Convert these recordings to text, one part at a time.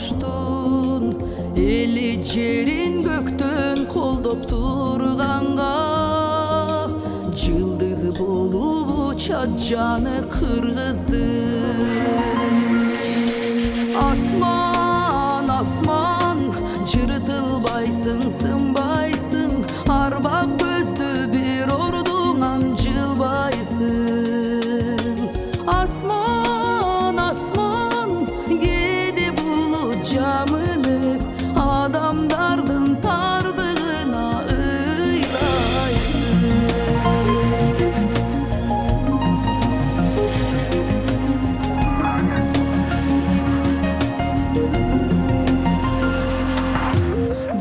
куштун эли жерин көктөн колдоп турганга жылдыз болуп учат жаны кыргыздын. Асман, асман, жыртылбайсың, сынбайсың, арбак көздү бир ордуңан жылбайсың. Асман, асман, кээде булут жамылып, адамдардын тардыгына ыйлайсың.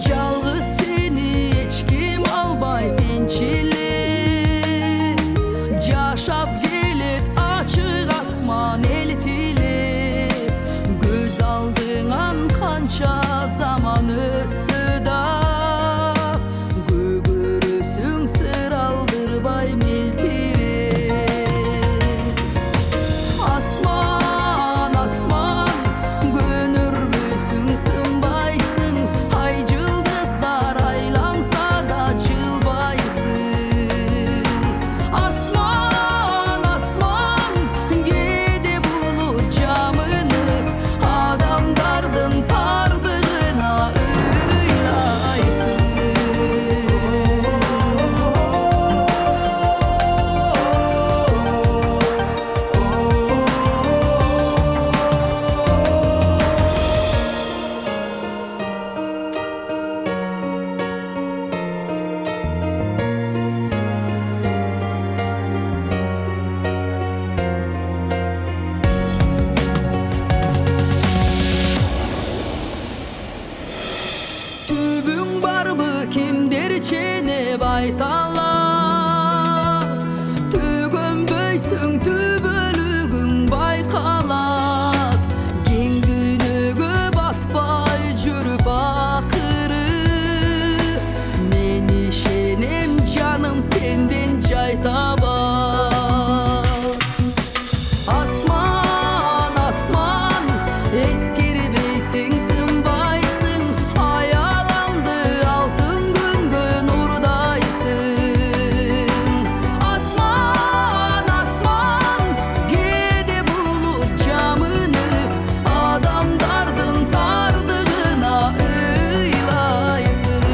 Жалгыз сени эч ким албай тинчилеп, жашап келет ачык асман элтилеп. Көз алдыңан канча заман өтсө да, көгөрөсүң сыр алдырбай мелтиреп. Асман, асман, көнүрбөсүң, сынбайсың, ай жылдыздар айланса да чылбайсың. Асман, асман, кээде булут жамылып, адамдардын тардыгына ыйлайсың. Түбүң барбы, кимдер ченеп айталат, төгөнбөйсүң, түбөлүгүң байкалат. Кең дүйнөгө батпай жүрүп акыры, мен ишенем жаным сенден жай табат. Асман, асман, эскербейсиң, сынбайсың, аяламды алтын күнгөн урдайсың. Асман, асман, кээде булут жамынып, адамдардын тардыгына ыйлайсың.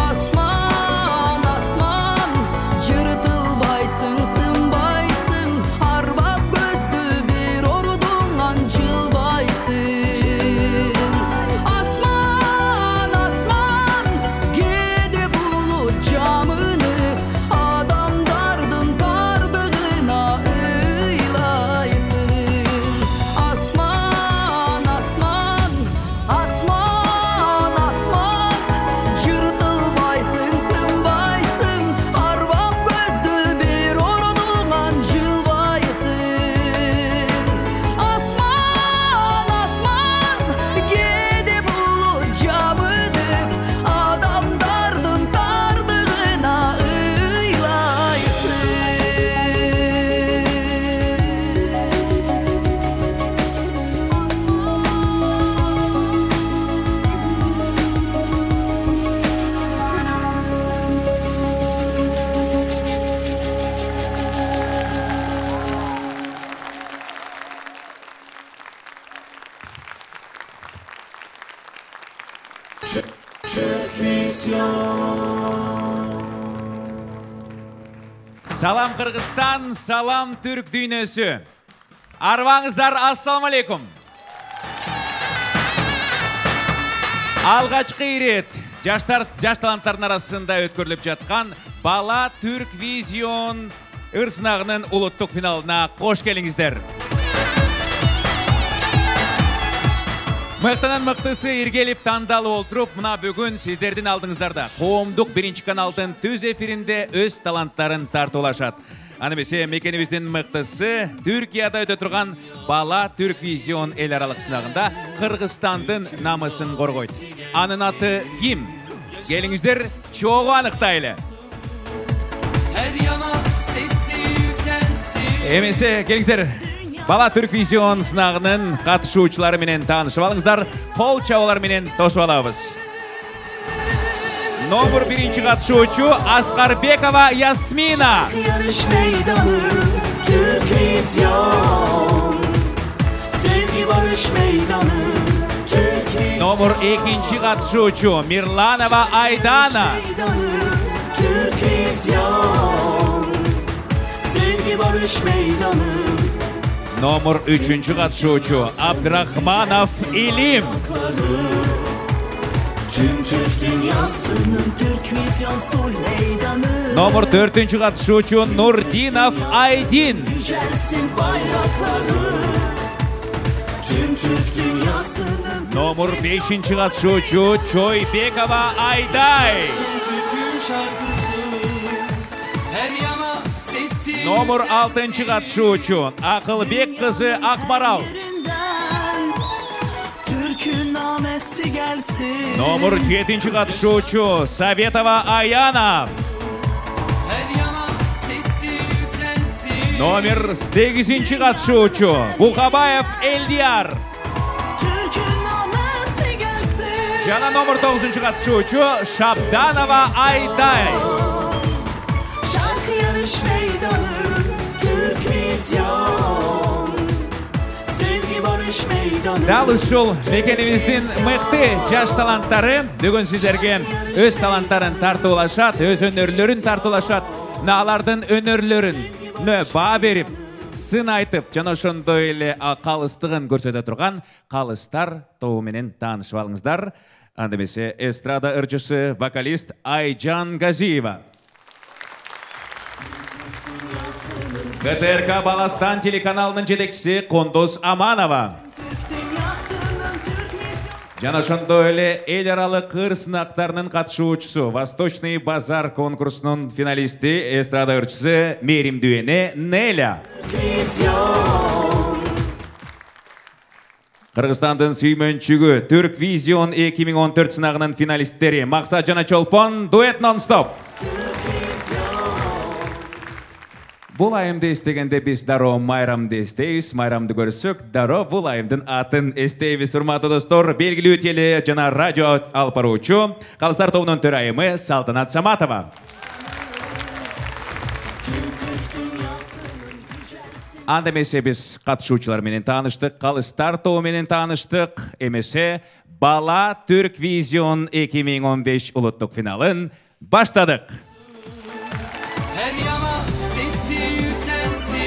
Асман, асман, жыртылбайсың, сынбайсың, арбак көздү бир ордуңан жылбайсың. Асман, асман, кээде булут жамынып, адамдардын тардыгына ыйлайсың. Асман, асман, асман, асман, жыртылбайсың, сынбайсың, арбак көздү бир ордуңан жылбайсың. Асман, асман, кээде булут жамылып, адамдардын тардыгына ыйлайсың. Салам Кыргызстан, салам түрк дүйнөсү. Арбаңыздар, ассаламу алейкум. Алгачкы ирет жаш таланттардын арасында өткөрүлүп жаткан Бала Түрк Визион ыр сынагынын улуттук финалына кош келиңиздер. Мыктынын мыктысы иргелип тандалып олтуруп, мына бүгүн сиздердин алдыңыздарда коомдук биринчи каналдын түз эфиринде өз таланттарын тартуулашат. Аны эмесе мекенибиздин мыктысы Түркияда өтө турган Бала Түрк Визион эл аралык сынагында Кыргызстандын намысын коргойт. Анын аты ким? Келиңиздер, чогуу аныктайлы. Эмесе, келиңиздер. Бала Түрквизион сынагынын катышуучулары менен таанышып алыңыздар. Кол чабуулар менен тосуп алабыз. Номер 1 катышуучу Аскарбекова Ясмина. Yarış meydanı Türkvizyon. Sevgi barış meydanı Türkvizyon. Номер 2 катышуучу Мирланова Айдана. Meydanı Türkvizyon. Sevgi barış meydanı. Номер 3 катышуучу Абдрахманов Илим. Tüm Türk dünyasının Türkvizyon soy meydanı. Номер 4 катышуучу Нурдинов Айдин. Yücelsin bayrakları. Tüm Türk dünyasının Номер 5 катышуучу Чойбекова Айдай. Türk'ün şarkısı. Her yana sesi. Номер 6 катышуучу Акылбек кызы Акмарал. Türk'ün namesi gelsin. Номер 7 катышуучу Советова Аяна. Her yana sesi yükselsin. Номер 8 катышуучу Бухабаев Элдияр. Türk'ün namesi gelsin. Жана номер 9 катышуучу Шабданова Айдай. Şarkı yarış meydanı Türkvizyon. Sevgi barış meydanı. Дал ушул мекенибиздин мыкты жаш таланттары бүгүн сиздерге өз таланттарын тартуулашат, өз өнөрлөрүн тартуулашат. Алардын өнөрлөрүн баа берип, сын айтып, жана ошондой эле калыстыгын көрсөтө турган Калыстар тобу менен таанышып алыңыздар. Анда эмесе эстрада ырчысы, вокалист Айжан Газиева. КТРК Баластан телеканалынын жетекчиси Кондос Аманова. Жана ошондой эле эл аралык кыр сынактарынын катышуучусу, Восточный базар конкурсунун финалисти, эстрада ырчысы Меримдүене Неля. Кыргызстандын сүймөнчүгү Түрквизион 2014 сынагынын финалисттери Максат жана Чолпон дуэт нон-стоп. Бул айымды эстегенде биз дароо майрамды эстейбиз. Майрамды көрсөк, дароо бул айымдын атын эстейбиз. Урматтуу достор, белгилүү теле жана радио алып баруучу Калыстар тобунун төрайымы Салтанат Саматова. Анда эмесе биз катышуучулар менен тааныштык, Калыстар тобу менен тааныштык. Эмесе Бала Түрквизион 2015 улуттук финалын баштадык. Her yana sesi yükselsin.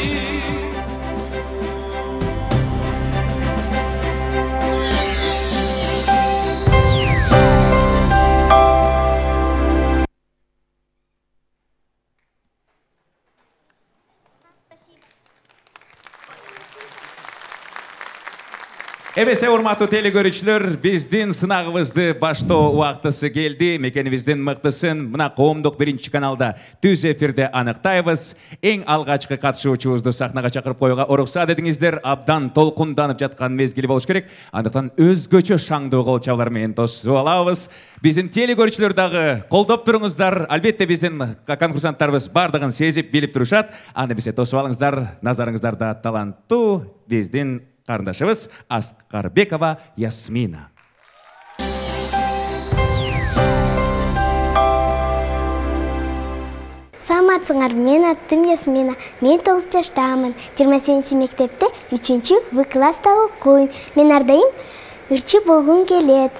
Эбесе урматтуу теле көрүүчүлөр, биздин сынагыбызды баштоо убактысы келди. Мекенибиздин мыктысын мына коомдук 1-каналда түз эфирде аныктайбыз. Эң алгачкы катышуучубузду сахнага чакырып коюуга уруксат этиңиздер. Абдан толкунданып жаткан мезгили болуш керек. Андыктан өзгөчө шаңдуу кол чабуулар менен тосуп алабыз. Биздин теле көрүүчүлөр дагы колдоп туруңуздар. Албетте биздин конкурсанттарыбыз бардыгын сезип, билип турушат. Анда эмесе тосуп алыңыздар. Назарыңыздарда таланттуу биздин карындашыбыз Аскарбекова Ясмина. Саламатсыңар, мен аттым Ясмина. Мен 9 жаштамын. 28 мектепте 3-В класста окуйм. Мен ардайым ырчы болгум келет.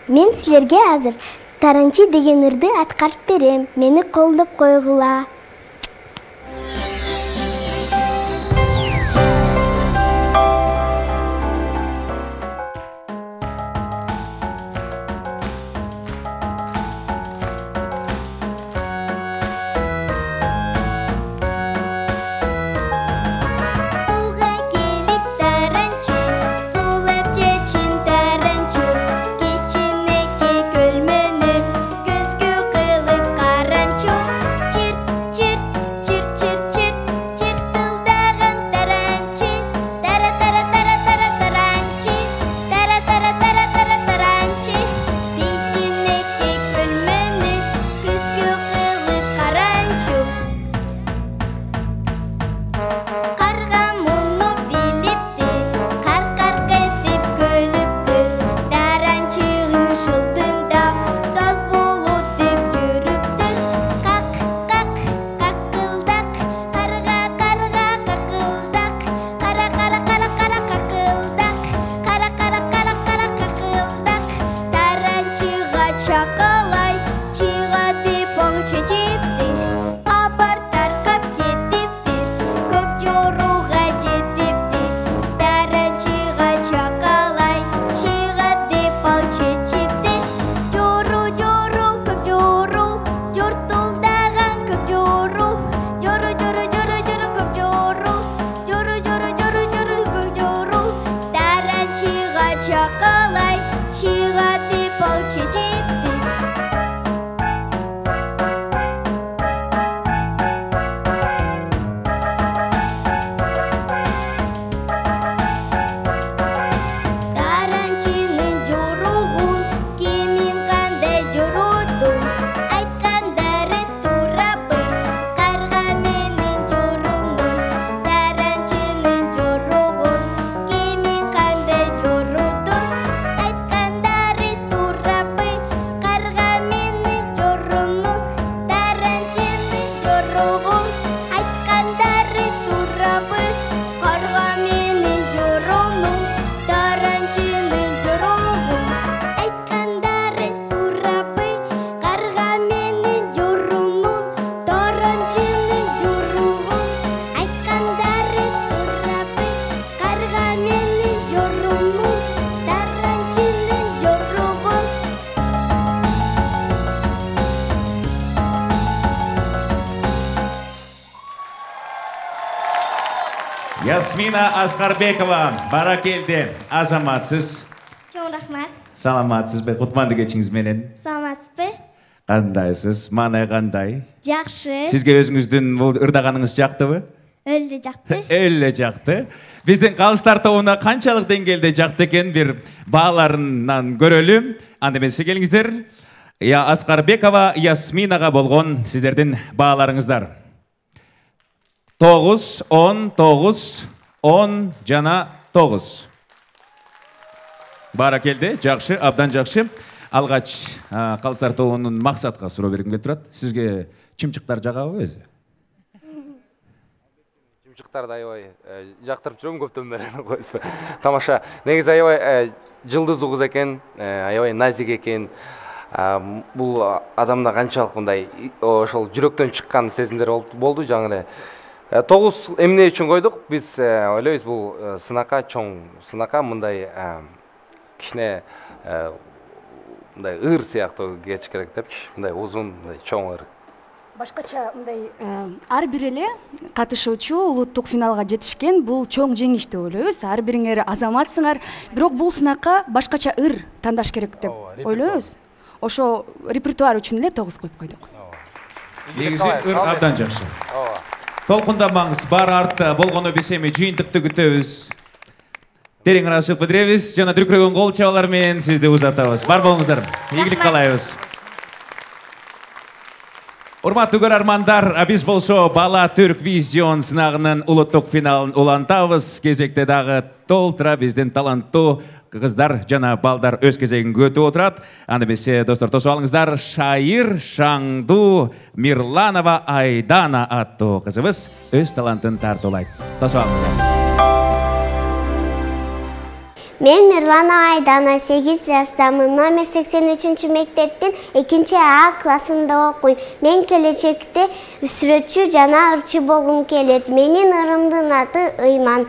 Мен силерге азыр Таранчы деген ырды аткарып берем. Мени колдоп койгула. чакалай чыгатып ал чечекти. Таранчынын жоругун кемин кандай жоруту, айткандары турабы карга менен жорунун. Таранчынын жоругун кемин кандай жоруту, айткандары турабы карга менен жорунун. Таранчынын жоругун айткандары турабы карга менен жорунун. Таранчынын жоругун айткандары турабы карга менен жорунун. Таранчынын жоругун айткандары турабы карга менен жорунун. Таранчынын жоругун. Ясмина Аскарбекова, баракелде, азаматсыз. Чоң рахмат. Саламатсызбы? Кутманды кечиңиз менен. Саламатсызбы? Кандайсыз? Маанай кандай? Жакшы. Сизге өзүңүздүн бул ырдаганыңыз жактыбы? Өлдү жакты. Эле жакты. Биздин калыстар тобуна канчалык деңгээлде жакты экен бир бааларынан көрөлү. Анда эмесе келиңиздер. Аскарбекова Ясминага болгон сиздердин бааларыңыздар. 9, 10, 9, 10 жана 9. Баракелде, жакшы, абдан жакшы. Алгач калыстар тобунун максатка суроо бергим келип турат. Сизге чымчыктар жагабы өзү? Чымчыктарды аябай жактырып жүрөм көптөн бери койсо. Тамаша. Негизи аябай жылдыздуу кыз экен, аябай назик экен. Бул адамда канчалык мындай ошол жүрөктөн чыккан сезимдер болду жаңы эле. 9 эмне үчүн койдук? Биз ойлойбуз бул сынакка, чоң сынакка мындай кичине мындай ыр сыяктуу кетиш керек депчи. Мындай узун, мындай чоң ыр. Башкача мындай ар бир эле катышуучу улуттук финалга жетишкен бул чоң жеңиш деп ойлойбуз. Ар бириңер азаматсыңар, бирок бул сынакка башкача ыр тандаш керек деп ойлойбуз. Ошо репертуар үчүн эле 9 коюп койдук. Негизи ыр абдан жакшы. Толкундамаңыз, бар артта болгону биз эми жыйынтыкты күтөбүз. Терең ырашып билдиребиз, жана дүркүрөгөн кол чабалар менен сизди узатабыз. Бар болуңуздар. Ийгилик каалайбыз. Урматтуу көрөрмандар, биз болсо Бала Түрк Визион сынагынын улуттук финалын улантабыз. Кезекте дагы толтура биздин таланттуу кыздар жана балдар өз кезегин күтүп отурат. Анда эмесе достор, тосуп алыңыздар. Шайыр Шаңду Мирланова Айдана аттуу кызыбыз өз талантын тартуулайт. Тосуп алыңыздар. Мен Мирланова Айдана, 8 жаштамын. Номер 83 мектептин 2А классында окуйм. Мен келечекте сүрөтчү жана ырчы болгум келет. Менин ырымдын аты Ыйман.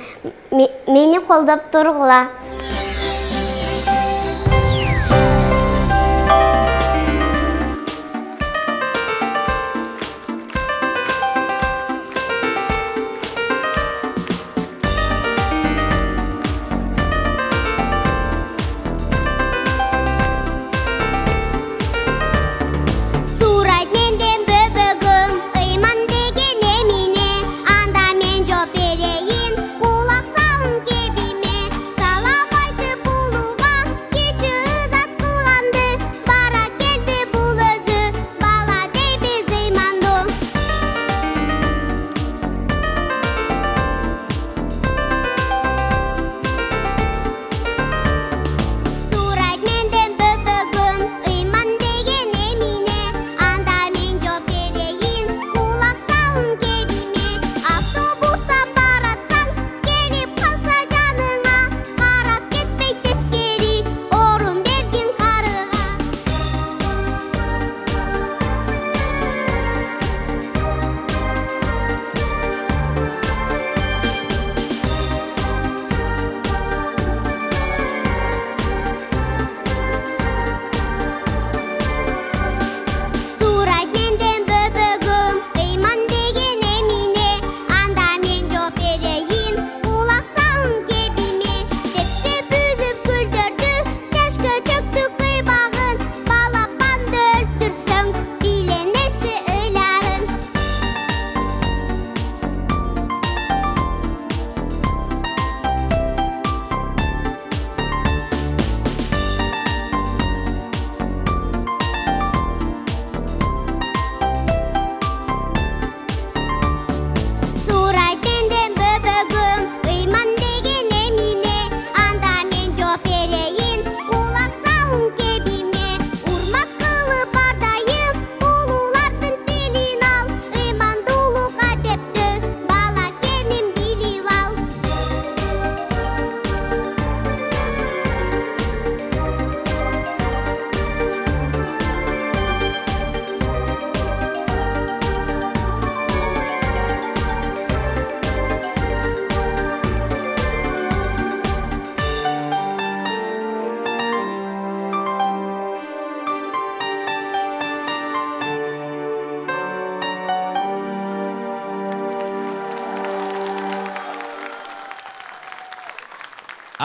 Мени колдоп тургула. Салам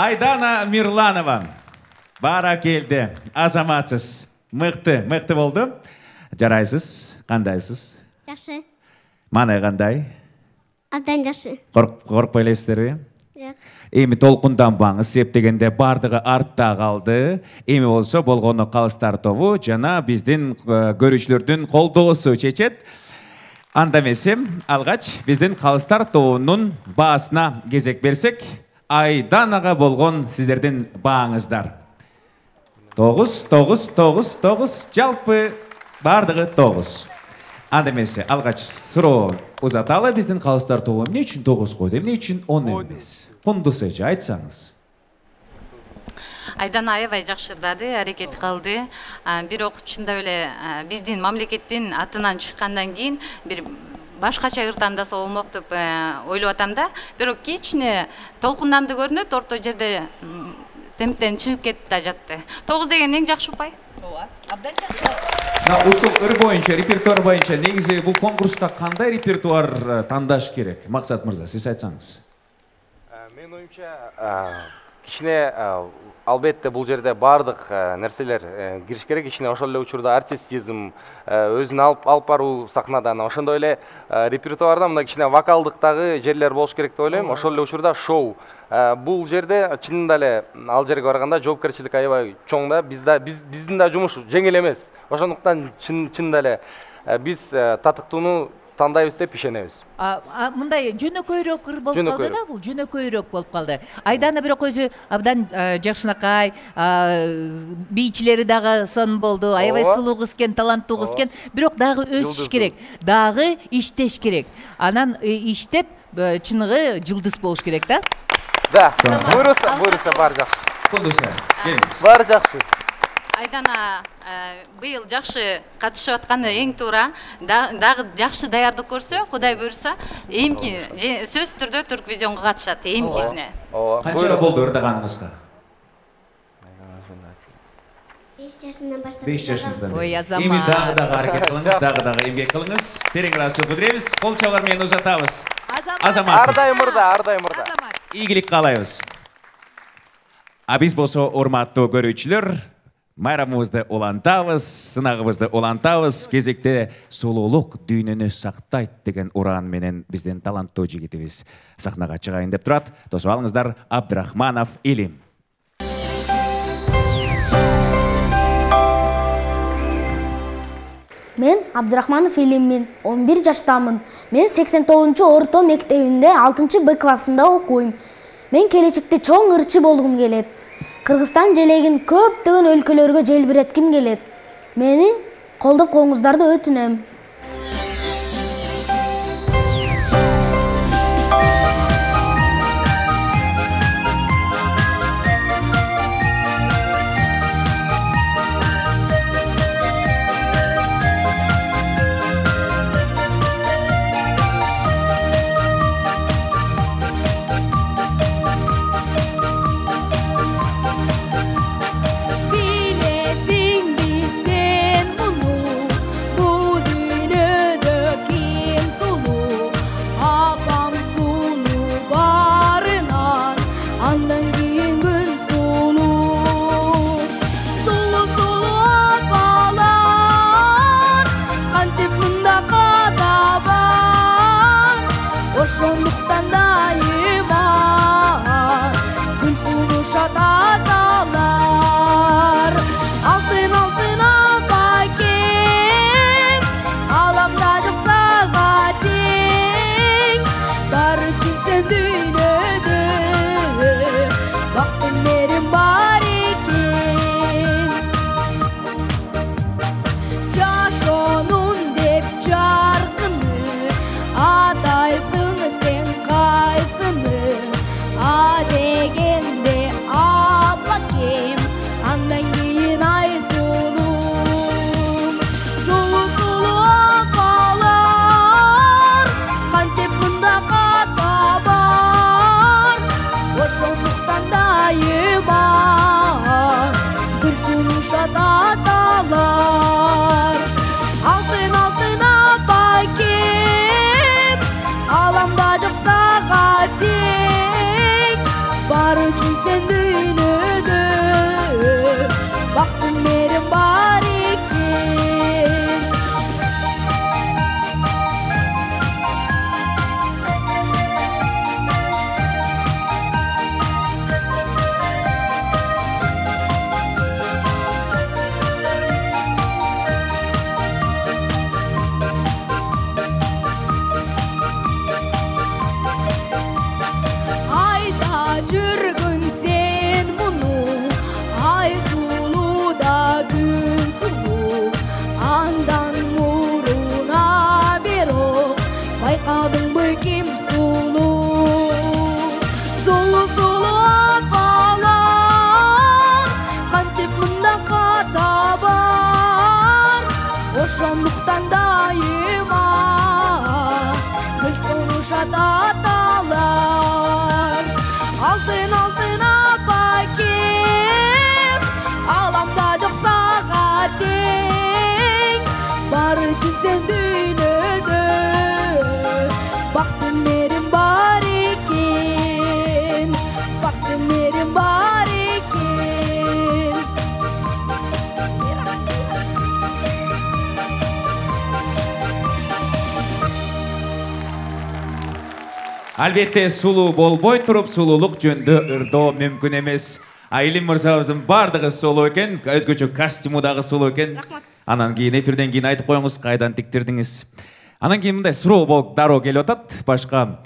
Айдана Мирланова. Баракелди. Азаматсыз. Мыкты болду. Жарайсыз? Кандайсыз? Жакшы. Мана кандай? Абдан жакшы. Коркпой элесиздерби? Жок. Эми толкунданбаңыз, септегенде бардыгы артта калды. Эми болсо болгону калыстар тобу жана биздин көрүүчүлөрдүн колдоосу чечет. Анда эмесе алгач биздин калыстар тобунун баасына кезек берсек, Айданага болгон сиздердин бааңыздар. 9, жалпы бардыгы 9. Анда эмесе алгач суроо узаталы биздин калыстар тобу эмне үчүн 9 койду, эмне үчүн 10 эмес? Кундуз эже айтсаңыз. Айдана аябай жакшырдады, аракет кылды. Бирок чындап эле биздин мамлекеттин атынан чыккандан кийин бир башкача ыр тандаса болмок деп ойлоп атам да. Бирок кичине толкунданды көрүнөт, орто жерде темптен чыгып кетип да жатты. 9 деген эң жакшы упай. Ооба, абдан жакшы. Ушул ыр боюнча, репертуар боюнча негизи бул конкурска кандай репертуар тандаш керек? Максат мырза, сиз айтсаңыз. Менин оюмча кичине албетте бул жерде бардык нерселер кириш керек. Кичине ошол эле учурда артистизм өзүн алып баруу сахнадан, ошондой эле репертуарда мына кичине вокалдыктагы жерлер болуш керек деп ойлойм. Ошол эле учурда шоу. Бул жерде чынында эле ал жерге барганда жоопкерчилик аябай чоң да. Биздин да жумуш жеңил эмес. Ошондуктан чынында эле биз татыктууну тандайбыз деп ишенебиз. Мындай жөнөкөйрөөк ыр болуп калды да, бул жөнөкөйрөөк болуп калды. Айдана бирок өзү абдан жакшынакай, бийчилери дагы сон болду, аябай сулуу кыз экен, таланттуу кыз экен, бирок дагы өсүш керек, дагы иштеш керек. Анан иштеп чыныгы жылдыз болуш керек да. Да, буйруса бар жакшы. Кундуза, келиңиз. Бар жакшы. Айдана быйыл жакшы катышып атканы эң туура. Дагы жакшы даярдык көрсө, Кудай буйруса, эмки сөзсүз түрдө Турквизионго катышат эмкисине. Канча болду ырдаганыңызга? 5 жашымдан баштап. 5 жашыңыздан. Ой, Азамат. Эми дагы аракет кылыңыз, дагы эмгек кылыңыз. Терең ыраазычылык билдиребиз. Кол чабуулар менен узатабыз. Азамат. Ардайым мырда. Ийгилик каалайбыз. А биз болсо урматтуу көрүүчүлөр, майрамыбызды улантабыз, сынагыбызды улантабыз. Кезекте сулуулук дүйнөнү сактайт деген уран менен биздин таланттуу жигитибиз сахнага чыгайын деп турат. Тосуп алыңыздар, Абдрахманов Илим. Мен Абдрахманов Илиммин, 11 жаштамын. Мен 89-чу орто мектебинде 6-Б классында окуйм. Мен келечекте чоң ырчы болгум келет. Кыргызстан желегин көптөгөн өлкөлөргө желбиретким келет. Мени колдоп коюңуздарды өтүнөм. Bilesingdi sen bunu, bu Албетте сулуу болбой туруп сулуулук жөнүндө ырдоо мүмкүн эмес. Айлим мырзабыздын бардыгы сулуу экен, өзгөчө костюму дагы сулуу экен. Анан кийин эфирден кийин айтып коюңуз кайдан тиктирдиңиз. Анан кийин мындай суроо болуп дароо келип атат. Башка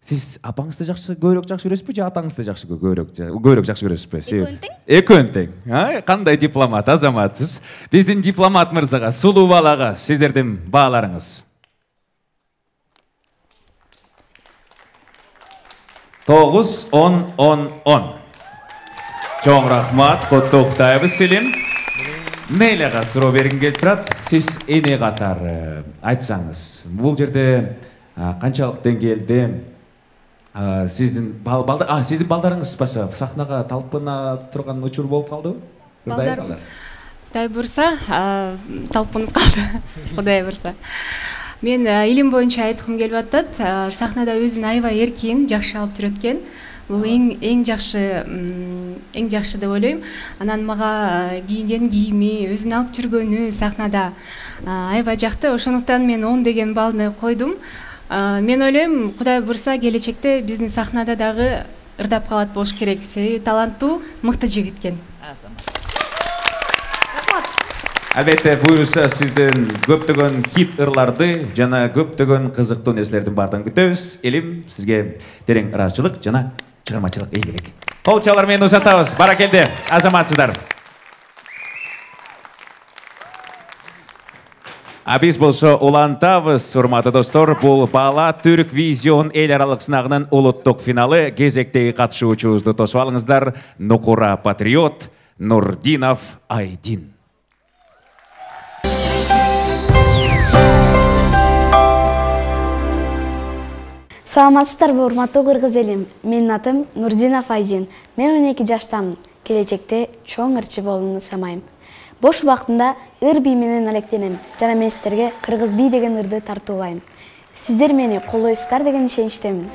сиз апаңызды көбүрөөк жакшы көрөсүзбү же атаңызды көбүрөөк жакшы көрөсүзбү? Экөөнү тең. Кандай дипломат, азаматсыз. Биздин дипломат мырзага, сулуу балага сиздердин бааларыңыз. 9-10-10-10. Чоң рахмат, коттуктайбыз Селим. Нейлега суроо бергим келип турат. Сиз эне катары айтсаңыз, бул жерде канчалык деңгээлде сиздин балдарыңыз сахнага талпына турган учур болуп калдыбы? Балдар. Кудай бурса, талпынып калды. Кудай бурса. Мен илим боюнча айткым келип атат. Сахнада өзүн аябай эркин, жакшы алып жүрөт экен. Бул эң жакшы деп ойлойм. Анан мага кийинген кийими, өзүн алып жүргөнү сахнада аябай жакты. Ошондуктан мен 10 деген баллны койдум. Мен ойлойм, Кудай бурса келечекте биздин сахнада дагы ырдап калат болуш керек. Себеби таланттуу, мыкты жигит экен. Албетте буюрса сиздин көптөгөн хит ырларды жана көптөгөн кызыктуу нерселердин баардыгын күтөбүз. Элим сизге терең ыраазычылык жана чыгармачылык ийгилик. Кол чалар менен узатабыз. Баракелде, азаматсыздар. Биз болсо улантабыз, урматтуу достор. Бул Бала Түрк Визион эл аралык сынагынын улуттук финалы. Кезектеги катышуучубузду тосуп алыңыздар. Нукура Патриот, Нурдинов Айдин. Саламатсыздарбы, урматтуу кыргыз элим. Менин атым Нурдинов Айдин. Мен 12 жаштамын. Келечекте чоң ырчы болууну самайм. Бош убактымда ыр бий менен алектенем. Жана мен сиздерге кыргыз бий деген ырды тартуулайм. Сиздер мени колдойсуздар деген ишеничтемин.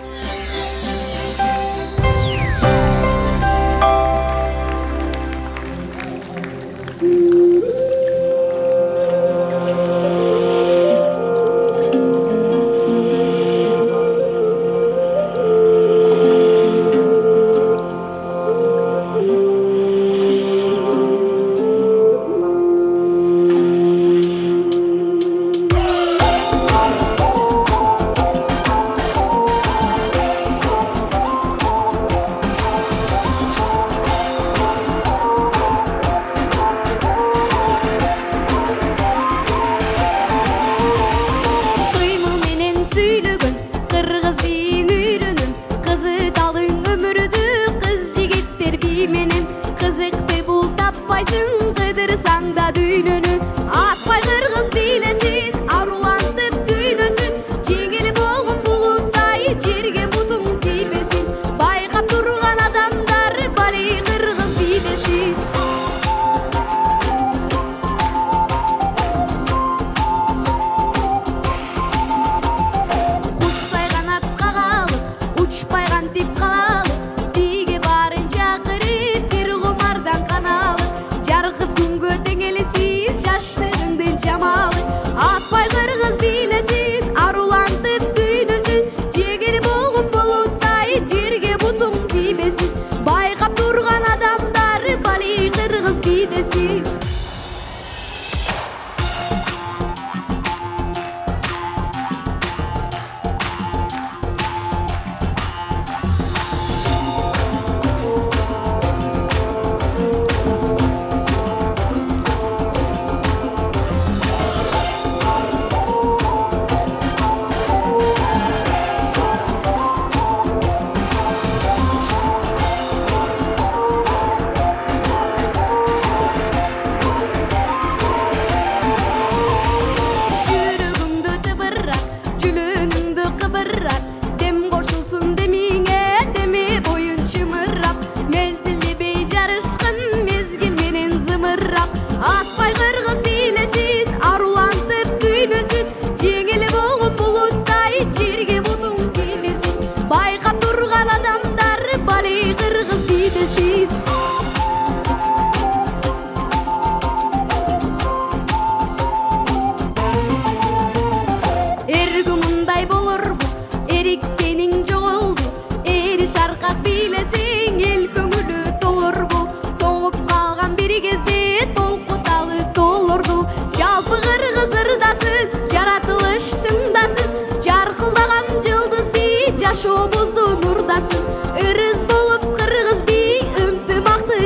Ergümünday bolur bu, erikkenin joğu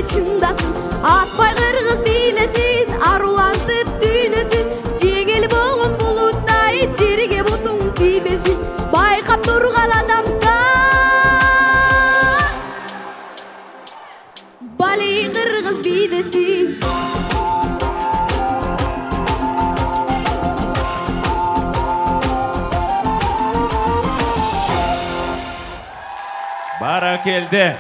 чындасын, атпай кыргыз бийлесин, арулантып түйлөсүн, жеңил болгон булуттай жерге бутуң тийбесин, байкап турган адамга бали кыргыз бидесин. Баракелде.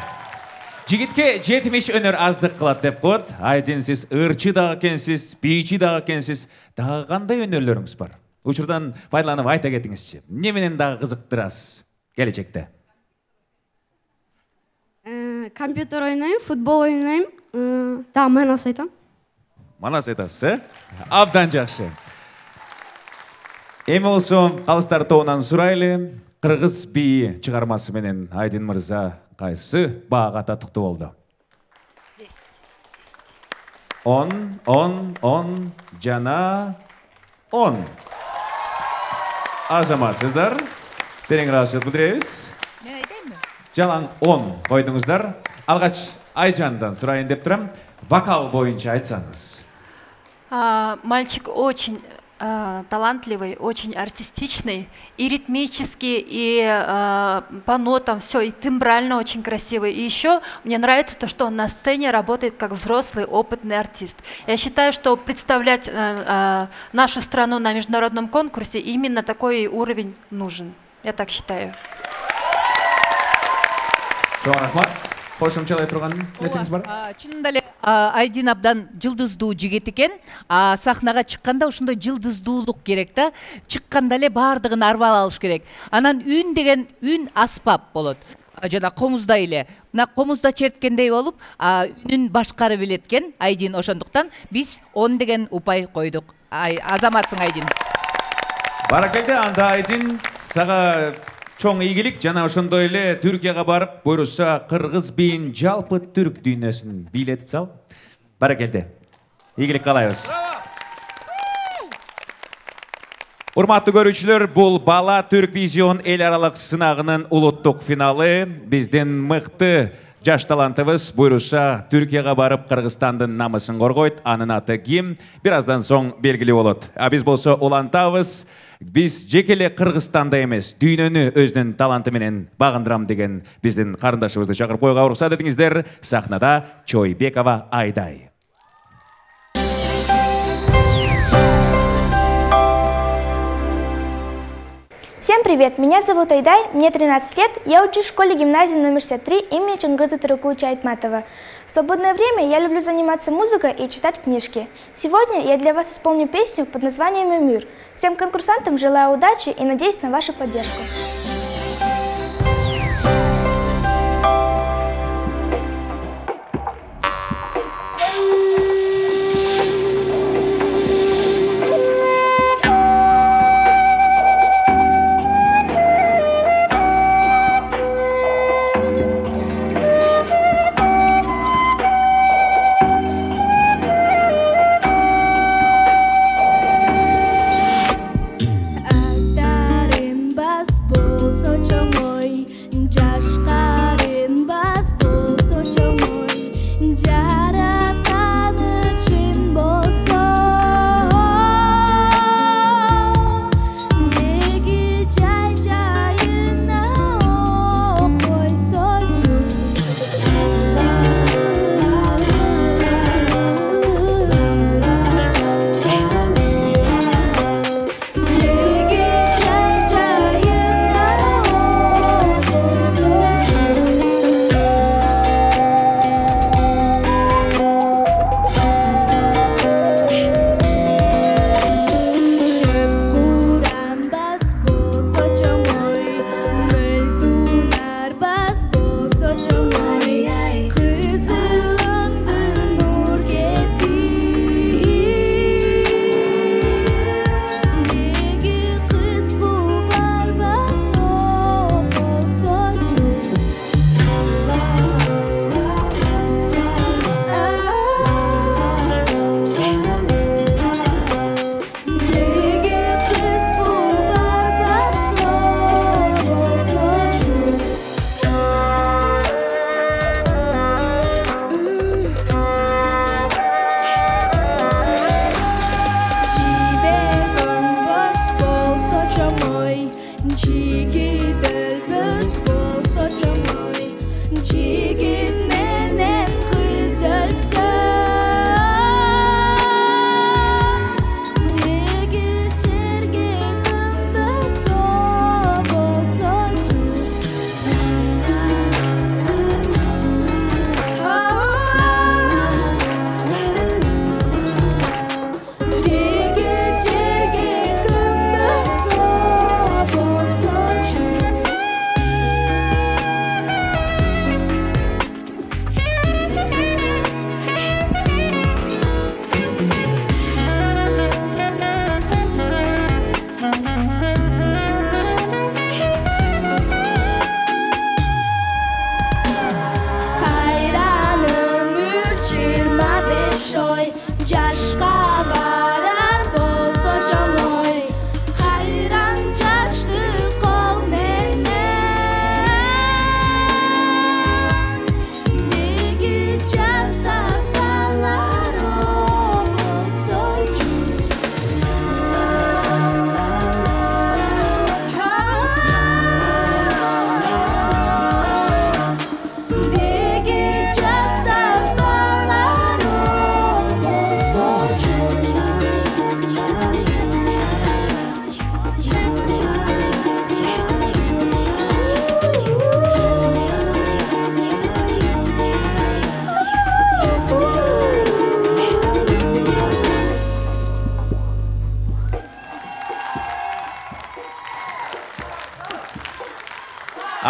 Жигитке 70 өнөр аздык кылат деп коет. Айдин сиз ырчы дагы экенсиз, бийчи дагы экенсиз. Дагы кандай өнөрлөрүңүз бар? Учурдан пайдаланып айта кетиңизчи. Эмне менен дагы кызыктырасыз келечекте? Компьютер ойнойм, футбол ойнойм, дагы манас айтам. Манас айтасыз, э? Абдан жакшы. Эми болсо калыстар тобунан сурайлы. Кыргыз бии чыгармасы менен Айдин мырза кайсы баага татыктуу болду? 10 жана 10. Азаматсыздар. Терең ыраазычылык билдиребиз. Мен айтайынбы? Жалаң 10 койдуңуздар. Алгач Айжандан сурайын деп турам. Вокал боюнча айтсаңыз. Мальчик очень талантливый, очень артистичный, и ритмический, и по нотам все, и тембрально очень красивый. И еще мне нравится то, что он на сцене работает как взрослый, опытный артист. Я считаю, что представлять нашу страну на международном конкурсе именно такой уровень нужен. Я так считаю. Кошумчалай турган нерсеңиз бар? Чынында эле Айдин абдан жылдыздуу жигит экен. Сахнага чыкканда ошондой жылдыздуулук керек да. Чыкканда эле баардыгын арбап алыш керек. Анан үн деген үн аспап болот. Жана комуздай эле. Мына комузда черткендей болуп, үнүн башкары билет экен Айдин. Ошондуктан биз 10 деген упай койдук. Азаматсың Айдин. Баракелде, анда Айдин сага чоң ийгилик, жана ошондой эле Түркияга барып, буйруса кыргыз бийин жалпы түрк дүйнөсүн бийлетип сал. Баракелде. Ийгилик каалайбыз. Урматтуу көрүүчүлөр, бул Бала Түрк Визион эл аралык сынагынын улуттук финалы. Биздин мыкты жаш талантыбыз буйруса Түркияга барып Кыргызстандын намысын коргойт. Анын аты ким? Бир аздан соң белгилүү болот. Биз болсо улантабыз. Биз жекеле Кыргызстанда эмес, дүйнөнү өзүнүн таланты менен багындырам деген биздин карындашыбызды чакырып коюуга уруксат этиңиздер. Сахнада Чойбекова Айдай. Всем привет, меня зовут Айдай, мне 13 лет, я учусь в школе гимназии номер 63 имени Чингиза Тырыкулыча Айтматова. В свободное время я люблю заниматься музыкой и читать книжки. Сегодня я для вас исполню песню под названием «Эмир». Всем конкурсантам желаю удачи и надеюсь на вашу поддержку.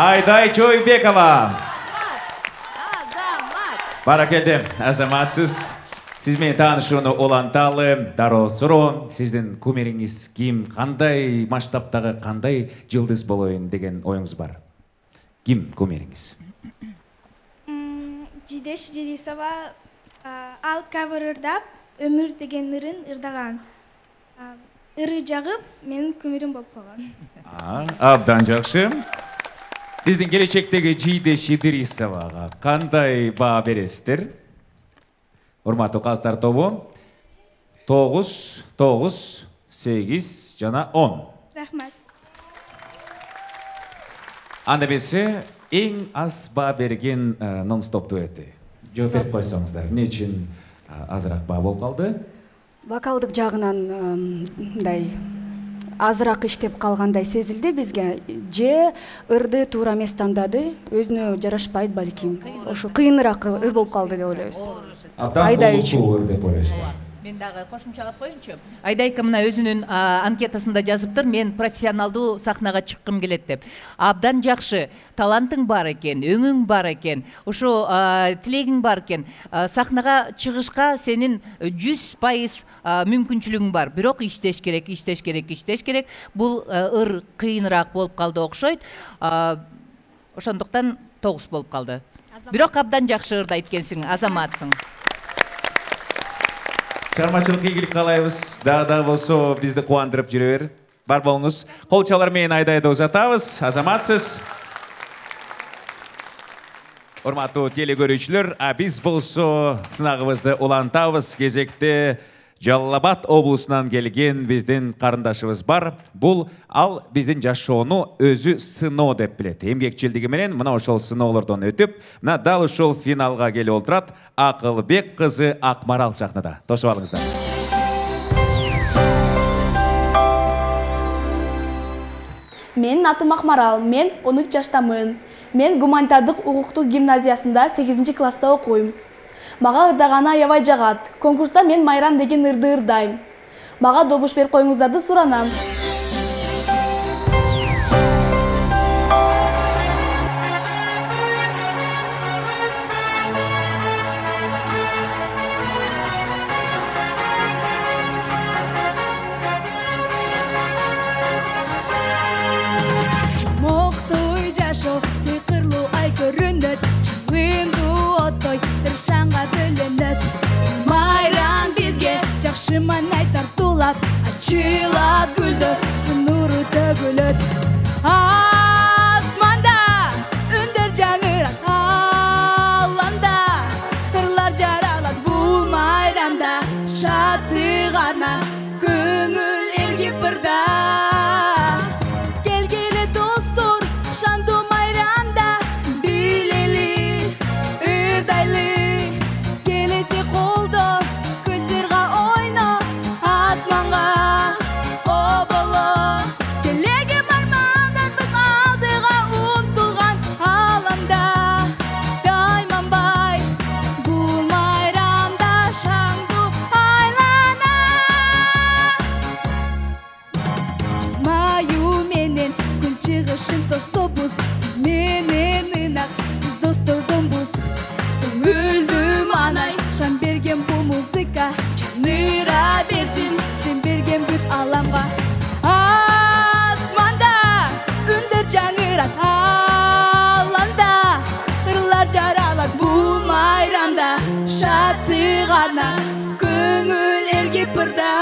Айдай Чойбекова. Баракелде, азаматсыз. Сиз менен таанышууну уланталы. Дароо суроо, сиздин кумириңиз ким? Кандай масштабтагы, кандай жылдыз болоюн деген оюңуз бар? Ким кумириңиз? Жидеш Жирисова, ал кавер ырдап, өмүр деген ырын ырдаган. Ыры жагып, менин кумирим болуп калган. Абдан жакшы. Биздин келечектеги Жидеш Жирисовага кандай баа бересиздер? Урматтуу каздар тобу, 9, 9, 8 жана 10. Рахмат. Анда бесе эң аз баа берген нон-стоп дуэти. Жооп берип койсоңуздар. Эмне үчүн азыраак баа болуп калды? Вокалдык жагынан мындай азыраак иштеп калгандай сезилди бизге. Же ырды туура эмес тандады, өзүнө жарашпайт балким. Ошо кыйыныраак ыр болуп калды деп ойлойбуз. Айдай үчүн деп ойлойсуз. Мен дагы кошумчалап коеюнчу. Айдайка мына өзүнүн анкетасында жазыптыр, мен профессионалдуу сахнага чыккым келет деп. Абдан жакшы, талантың бар экен, өңүң бар экен, ошо тилегиң бар экен. Сахнага чыгышка сенин 100% мүмкүнчүлүгүң бар. Бирок иштеш керек. Бул ыр кыйыныраак болуп калды окшойт. Ошондуктан 9 болуп калды. Бирок абдан жакшы ырдайт экенсиң, азаматсың. Чармачылык ийгилик каалайбыз. Дагы болсо бизди кубандырып жүрө бер. Бар болуңуз. Кол чалар менен Айдайды узатабыз. Азаматсыз. Урматтуу телекөрүүчүлөр, биз болсо сынагыбызды улантабыз. Кезекте Жалал Абад облусунан келген биздин карындашыбыз бар. Бул ал биздин жашоону өзү сыноо деп билет. Эмгекчилдиги менен мына ошол сыноолордон өтүп, мына дал ушул финалга келип олтурат. Акылбек кызы Акмарал сахнада. Тосуп алыңыздар. Менин атым Акмарал, мен 13 жаштамын. Мен гуманитардык укуктук гимназиясында 8 класста окуйм. Мага ырдаганы аябай жагат. Конкурста мен Майрам деген ырды ырдайм. Мага добуш берип коюңуздарды суранам. Моктой жашоо сыйкырлуу ай көрүнөт. Чыңындуу оттой тыршанга бөлөнөт. Майрам бизге жакшы маңай тартуулап, ачылат гүлдөр, нуру төгүлөт. Асманда үндөр жаңырат, аланда кырлар жаралат. Бул майрамда шаттыгана көңүл эргип ырда. Келгиле достор, шандуу майрамда билели, ырдайлы. Келечек колдо, күлчүрга ойно, асманга оболо. Келеге бармандан биз алдыга умтулган аламда. Дайманбай, бул майрамда шаңдуу айлана. Маю менен күн чыгышын тособуз, менен ынак биз достордонбуз. Көңүлдүм анай шам берген бул музыка, чаныра берсин сен берген бүт аламга. Асманда үндөр жаңырат, аланда кырлар жаралат. Бул майрамда шаттыгана көңүл эргип ырда.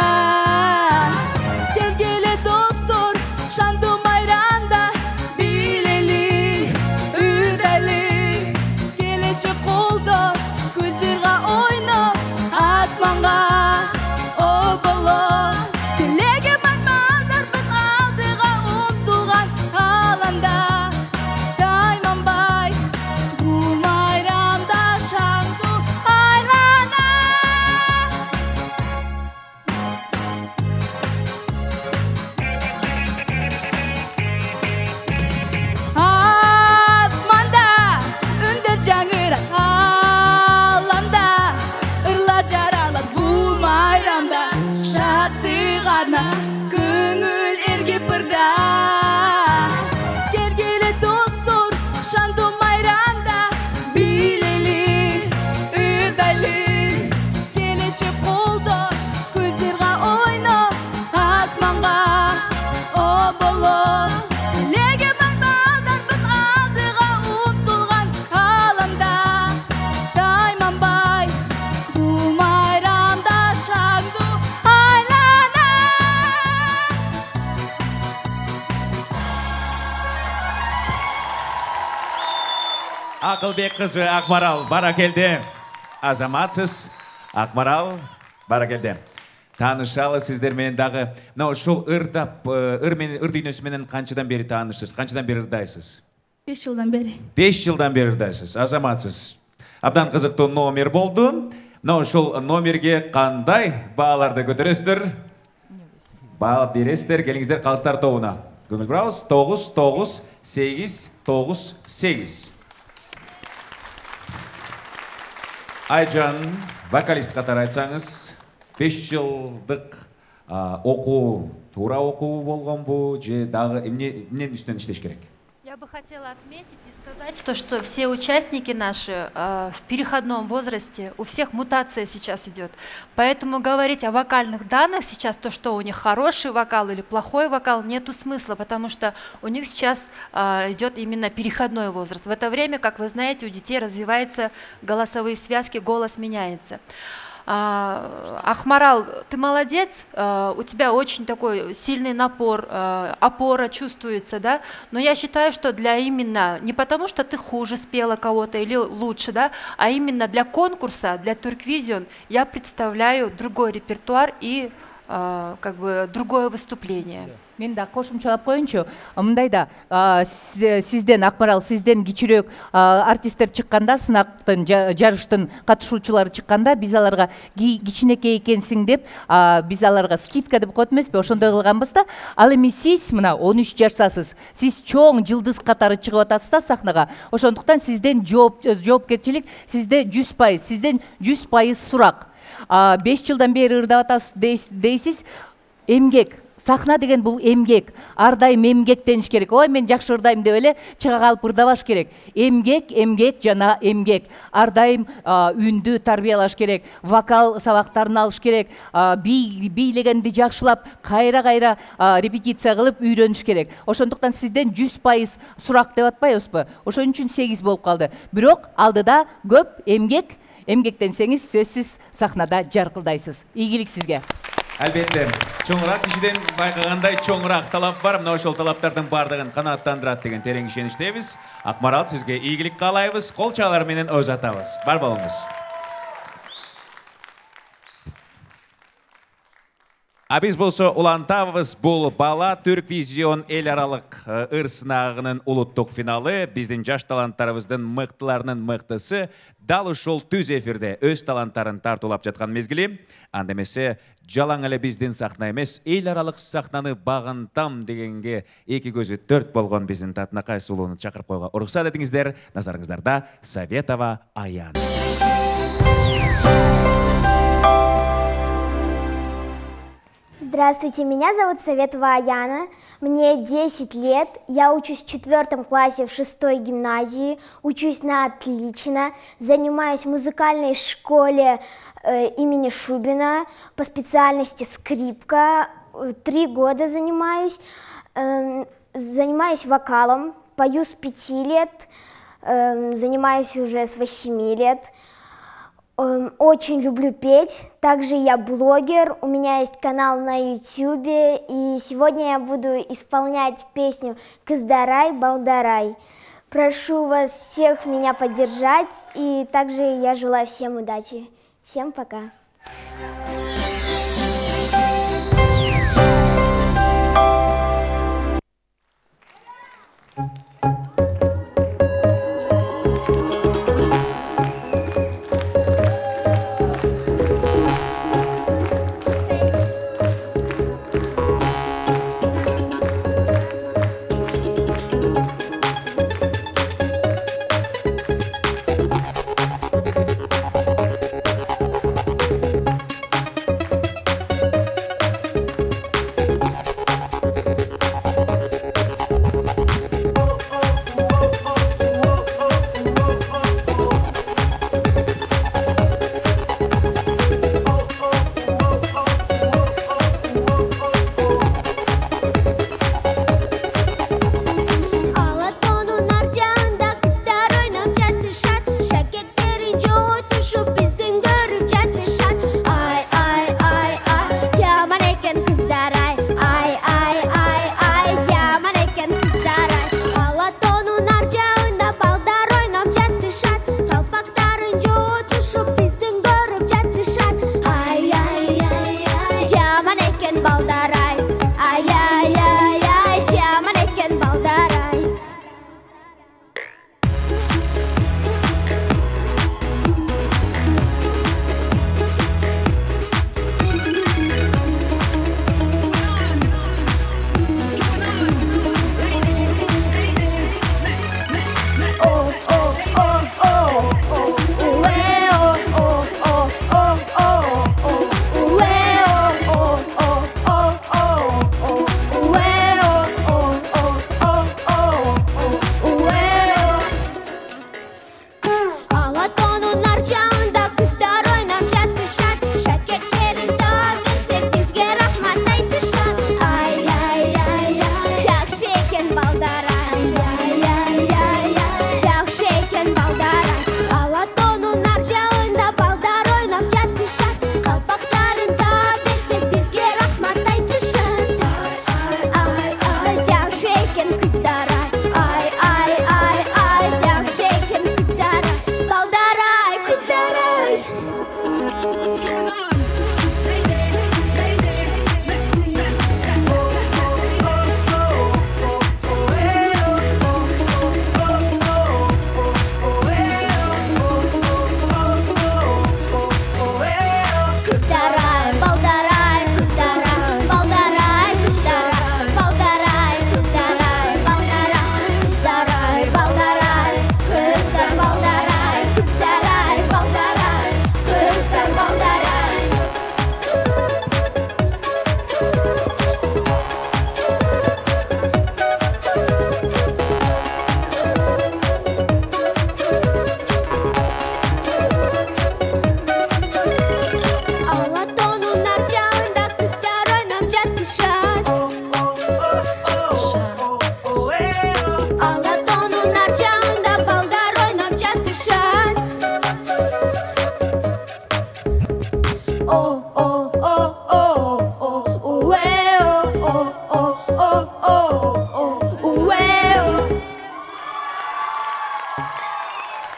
Келгиле достор, шандуу майрамда билели, ырдайлы. Келечек колдо, күлчүрга ойно, асманга оболо. Телеге бармандар биз алдыга умтулган аламда. Дайманбай, бул майрамда шаңдуу айлана. Акылбек кызы Акмарал, баракелде. Азаматсыз. Акмарал, баракелде. Таанышалы сиздер менен дагы. Мына ушул ыр дүйнөсү менен канчадан бери таанышсыз? Канчадан бери ырдайсыз? 5 жылдан бери. 5 жылдан бери ырдайсыз. Азаматсыз. Абдан кызыктуу номер болду. Мына ушул номерге кандай бааларды көтөрөсүздөр? Баа бересиздер, келиңиздер калыстар тобуна. Көңүл бурабыз. 9-9-8-9-8. Айжан, вокалист катары айтсаңыз, 5 жылдык окуу, туура окуу болгонбу, же дагы эмненин үстүнөн иштеш керек? Я бы хотела отметить и сказать то, что все участники наши в переходном возрасте, у всех мутация сейчас идет. Поэтому говорить о вокальных данных сейчас, то, что у них хороший вокал или плохой вокал, нету смысла, потому что у них сейчас идет именно переходной возраст. В это время, как вы знаете, у детей развиваются голосовые связки, голос меняется. Ахмарал, ты молодец, у тебя очень такой сильный напор, опора чувствуется, да, но я считаю, что для именно, не потому что ты хуже спела кого-то или лучше, да, а именно для конкурса, для Turkvision я представляю другой репертуар и как бы другое выступление. Мен да кошумчалап коеюнчу, мындай да, сизден Акмарал, сизден кичирөөк артисттер чыкканда, сынактын жарыштын катышуучулары чыкканда, биз аларга кичинекей экенсиң деп, биз аларга скидка деп коет эмеспи, ошондой кылганбыз да. Ал эми сиз мына 13 жаштасыз, сиз чоң жылдыз катары чыгып атасыз да сахнага. Ошондуктан сизден жоопкерчилик, сизде 100%, сизден 100% сурак. 5 жылдан бери ырдап атасыз дейсиз, эмгек. Сахна деген бул эмгек, ар дайым эмгектениш керек. Ой, мен жакшы ырдайм деп эле чыга калып ырдабаш керек. Эмгек жана эмгек. Ар дайым үндү тарбиялаш керек, вокал сабактарын алыш керек, бийлегенди жакшылап, кайра репетиция кылып үйрөнүш керек. Ошондуктан сизден 100% сурак деп атпайбызбы? Ошон үчүн 8 болуп калды. Бирок алдыда көп эмгектенсеңиз сөзсүз сахнада жаркылдайсыз. Ийгилик сизге. Албетте, чоңураак кишиден байкагандай чоңураак талап бар. Мына ошол талаптардын бардыгын канааттандырат деген терең ишеничтебиз. Акмарал, сизге ийгилик каалайбыз. Кол чалар менен озатабыз. Бар болуңуз. Биз болсо улантабыз, бул бала Turkvision эл аралык ыр сынагынын улуттук финалы. Биздин жаш таланттарыбыздын мыктыларынын мыктысы дал ушул түз эфирде өз таланттарын тартуулап жаткан мезгили. Анда эмесе жалаң эле биздин сахна эмес, эл аралык сахнаны багынтам дегенге эки көзү төрт болгон биздин Татынакай сулууну чакырып коюуга уруксат этиңиздер. Назарыңыздарда Советова Аяна. Здравствуйте, меня зовут Советова Аяна, мне 10 лет, я учусь в 4 классе в 6-й гимназии, учусь на отлично, занимаюсь в музыкальной школе имени Шубина по специальности скрипка, 3 года занимаюсь вокалом, пою с 5 лет, занимаюсь уже с 8 лет. Очень люблю петь, также я блогер, у меня есть канал на YouTube, и сегодня я буду исполнять песню «Кыздарай, балдарай». Прошу вас всех меня поддержать, и также я желаю всем удачи. Всем пока!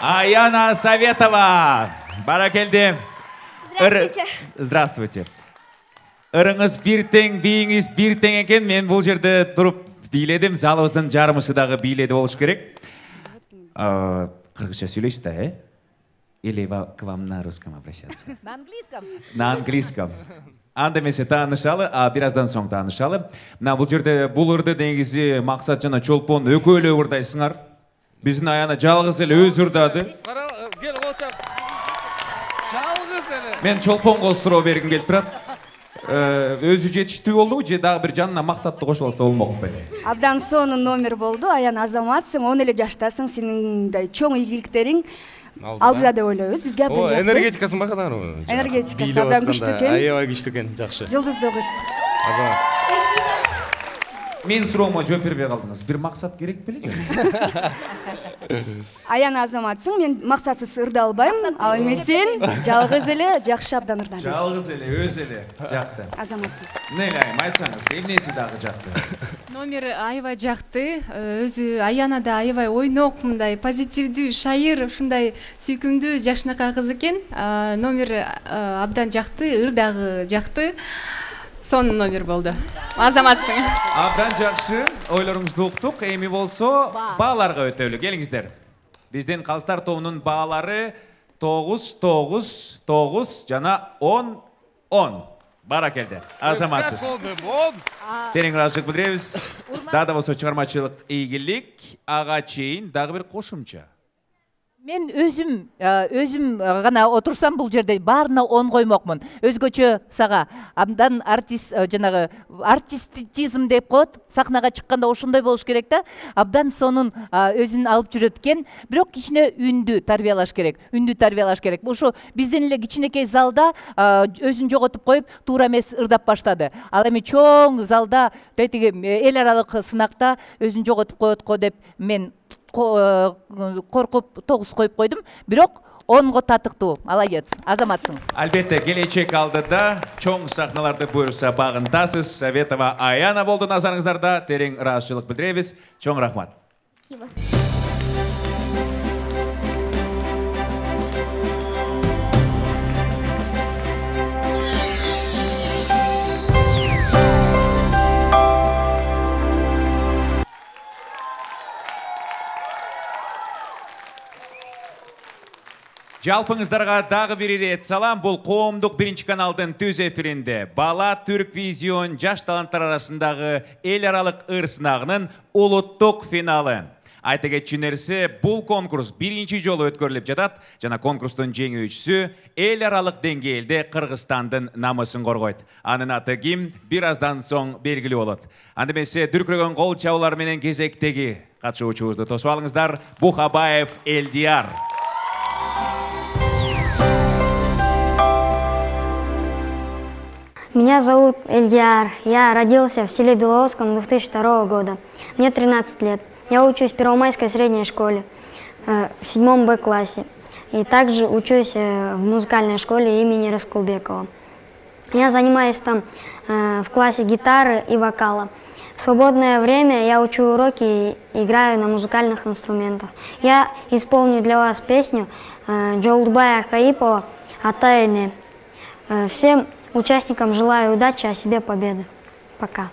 Аяна Советова. Баракелди. Здравствуйте. Здравствуйте. Ырыңыз бир тең, бийиңиз бир тең экен. Мен бул жерде туруп бийледим. Залыбыздын жарымысы дагы бийледи болуш керек. Кыргызча сүйлөйсүз да, Или к вам на русском обращаться? На английском. На английском. Анда эмесе таанышалы, бираздан соң таанышалы. Мына бул жерде бул ырды негизи Максат жана Чолпон экөө эле ырдайсыңар. Биздин Аяна жалгыз эле өзү ырдады. Кел болчап. Жалгыз эле. Мен Чолпонго суроо бергим келип турат. Өзү жетиштүү болдубу же дагы бир жанына Максатты кошуп алса болмокпу? Абдан сонун номер болду. Аяна азаматсың, 10 эле жаштасың, сенин мындай чоң ийгиликтериң алдыда деп ойлойбуз. Бизге абдан жакты. Энергетикасын байкадыңар? Энергетикасы абдан күчтүү экен. Аябай күчтүү экен, жакшы. Жылдыздуу кыз. Азамат. Мен суроомо жооп бербей калдыңыз. Бир максат керек беле же? Аяна азаматсың, мен максатсыз ырда албайм. Ал эми сен жалгыз эле жакшы абдан ырдадың. Жалгыз эле, өзү эле жакты. Азаматсың. Нелайым, айтсаңыз, эмнеси дагы жакты? Номер аябай жакты. Өзү Аяна да аябай ойнок, мындай позитивдүү, шайыр, ушундай сүйкүмдүү, жакшынакай кыз экен. Номер абдан жакты, ыр дагы жакты. Сонун номер болду. Азаматсың. Абдан жакшы, ойлоруңузду уктук. Эми болсо бааларга өтөлү. Келиңиздер. Биздин Калыстар тобунун баалары 9, 9, 9 жана 10, 10. Баракелди. Азаматсыз. Терең ыраазычылык билдиребиз. Дагы да болсо чыгармачылык ийгилик, ага чейин дагы бир кошумча. Мен өзүм гана отурсам бул жерде баарына 10 коймокмун. Өзгөчө сага абдан жанагы артистизм деп коет. Сахнага чыкканда ошондой болуш керек да. Абдан сонун өзүн алып жүрөт экен. Бирок кичине үндү тарбиялаш керек. Ошо бизден эле кичинекей залда өзүн жоготуп коюп, туура эмес ырдап баштады. Ал эми чоң залда тетиги эл аралык сынакта өзүн жоготуп коет го деп мен коркуп 9 коюп койдум. Бирок 10го татыктуу. Молодец. Азаматсың. Албетте, келечек алдыда чоң сахналарды буйруса багынтасыз. Советова Аяна болду назарыңыздарда. Терең ыраазычылык билдиребиз. Чоң рахмат. Жалпыңыздарга дагы бир ирет салам. Бул коомдук биринчи каналдын түз эфиринде Бала Түрквизион жаш таланттар арасындагы эл аралык ыр сынагынын улуттук финалы. Айта кетчү нерсе, бул конкурс биринчи жолу өткөрүлүп жатат жана конкурстун жеңүүчүсү эл аралык деңгээлде Кыргызстандын намысын коргойт. Анын аты ким? Бир аздан соң белгилүү болот. Анда эмесе дүркүрөгөн кол чабуулар менен кезектеги катышуучубузду тосуп алыңыздар. Бухабаев Элдияр. Меня зовут Эльдияр. Я родился в селе Беловодском 2002 года. Мне 13 лет. Я учусь в Первомайской средней школе в 7 Б классе. И также учусь в музыкальной школе имени Раскулбекова. Я занимаюсь там в классе гитары и вокала. В свободное время я учу уроки и играю на музыкальных инструментах. Я исполню для вас песню Джолдубая Каипова «Атайны». Всем участникам желаю удачи, а себе победы. Пока.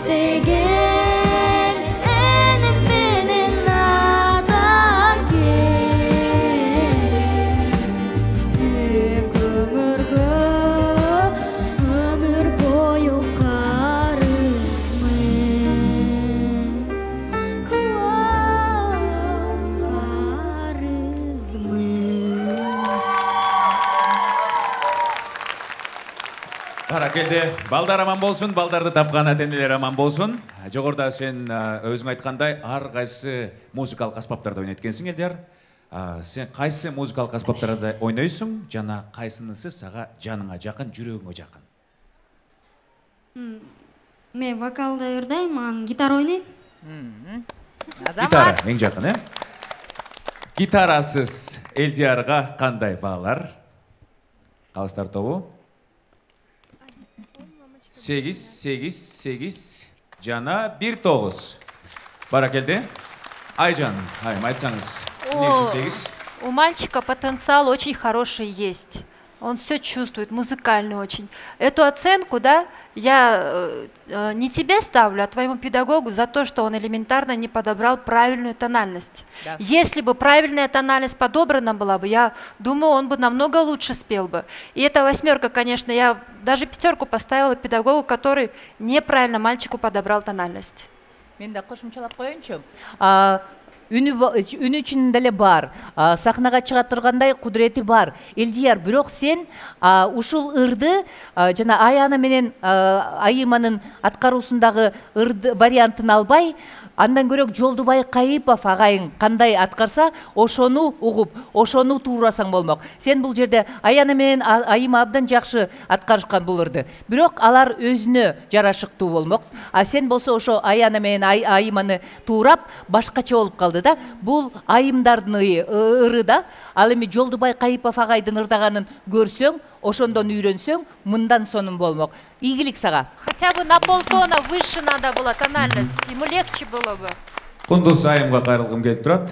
иштеген эни менен надан кел өмүргө өмүр бою карызмын Баракелде, балдар аман болсун, балдарды тапкан ата-энелер аман болсун. Жогоруда сен өзүң айткандай ар кайсы музыкалык аспаптарды ойнойт экенсиң, Элдияр. Сен кайсы музыкалык аспаптарды ойнойсуң жана кайсынысы сага жаныңа жакын, жүрөгүңө жакын? Мен вокалда ырдайм, анан гитара ойнойм. Гитара эң жакын, Гитарасыз Элдиярга кандай баалар? Калыстар тобу? 8 жана 1-9. Баракелде. Айжан, айтсаңыз. У мальчика потенциал очень хороший есть. Он все чувствует, музыкальный очень. Эту оценку, да, я не тебе ставлю, а твоему педагогу за то, что он элементарно не подобрал правильную тональность. Да. Если бы правильная тональность подобрана была бы, я думаю, он бы намного лучше спел бы. И эта 8, конечно, я даже 5 поставила педагогу, который неправильно мальчику подобрал тональность. Мен да кошумчалап коеюнчу. Үнү үчүн деле бар, сахнага чыга тургандай кудурети бар. Элдияр, бирок сен ушул ырды жана Аяна менен Айыманын аткаруусундагы ырды вариантын албай, андан көрөк Жолдубай Кайыпов агайың кандай аткарса, ошону угуп, ошону туурасаң болмок. Сен бул жерде Аяна менен Айыма абдан жакшы аткарышкан бул ырды. Бирок алар өзүнө жарашыктуу болмок. А сен болсо ошо Аяна менен Айыманы туурап, башкача болуп калды да. Бул айымдардын ыры да. Ал эми Жолдубай Кайыпов агайдын ырдаганын көрсөң, ошондон үйрөнсөң, мындан сонун болмок. Ийгилик сага. Хотя бы на полтона выше надо было тональность, ему легче было бы. Кундуз айымга кайрылгым келип турат.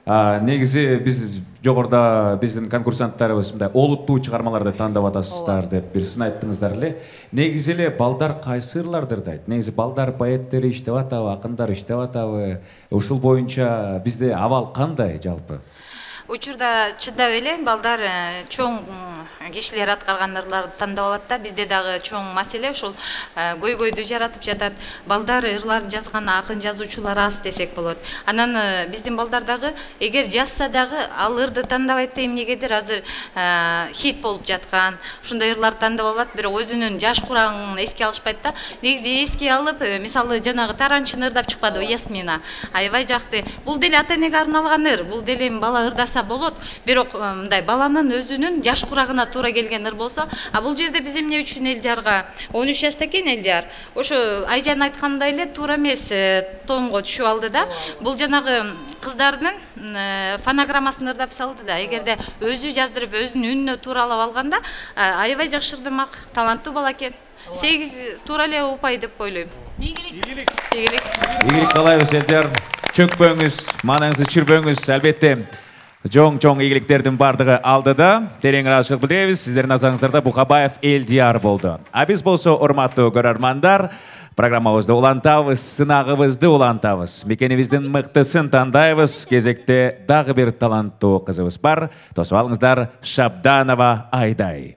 Негизи биз жогоруда биздин конкурсанттарыбыз мындай олуттуу чыгармаларды тандап атасыздар деп бир сын айттыңыздар эле. Негизи эле балдар кайсы ырларды ырдайт? Негизи балдар поэттери иштеп атабы, акындар иштеп атабы? Ушул боюнча бизде абал кандай жалпы? Учурда чыдап эле балдар чоң кишилер аткарган ырларды тандап алат да. Бизде дагы чоң маселе ушул көйгөйдү жаратып жатат. Балдар ырларын жазган акын жазуучулар аз десек болот. Анан биздин балдар дагы эгер жазса дагы ал ырды тандабайт да, эмнегедир азыр хит болуп жаткан ушундай ырларды тандап алат, бирок өзүнүн жаш курагын эске алышпайт да. Негизи эске алып, мисалы жанагы Таранчыны ырдап чыкпадыбы, Ясмина. Аябай жакты. Бул деле ата-энеге арналган ыр. Бул деле бала ырдаса болот, бирок мындай баланын өзүнүн жаш курагына туура келген ыр болсо, а бул жерде биз эмне үчүн Элдиярга 13 жашта экен Элдияр. Ошо Айжан айткандай эле туура эмес тонго түшүп алды да. Бул жанагы кыздардын фонограммасын ырдап салды да. Эгерде өзү жаздырып, өзүнүн үнүнө тууралап алганда, аябай жакшы ырдамак, таланттуу бала экен. 8 туура эле упай деп ойлойм. Ийгилик. Ийгилик каалайбыз Элдияр. Чөкпөңүз, маанаңызды чирбөңүз, албетте. Жоң ийгиликтердин бардыгы алдыда. Терең ыраазычылык билдиребиз. Сиздердин назарыңыздарда Бухабаев Элдияр болду. А биз болсо, урматтуу көрөрмандар, программабызды улантабыз, сынагыбызды улантабыз. Мекенибиздин мыктысын тандайбыз. Кезекте дагы бир таланттуу кызыбыз бар. Тосуп алыңыздар, Шабданова Айдай.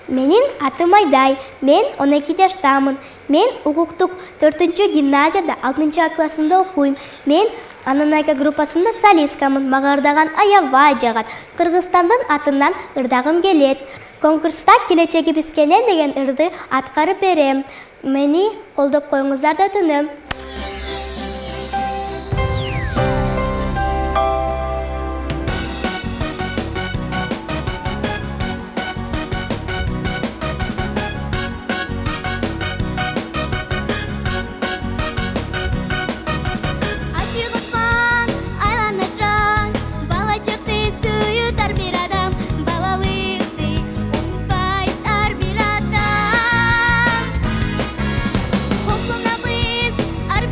Менин атым Айдай, мен 12 жаштамын. Мен укуктук 4-гимназияда 6 классында окуйм. Мен Ананайка группасында солисткамын. Мага ырдаган аябай жагат. Кыргызстандын атынан ырдагым келет. Конкурста келечегибиз кенен деген ырды аткарып берем. Мени колдоп коюңуздар да өтүнөм. Ар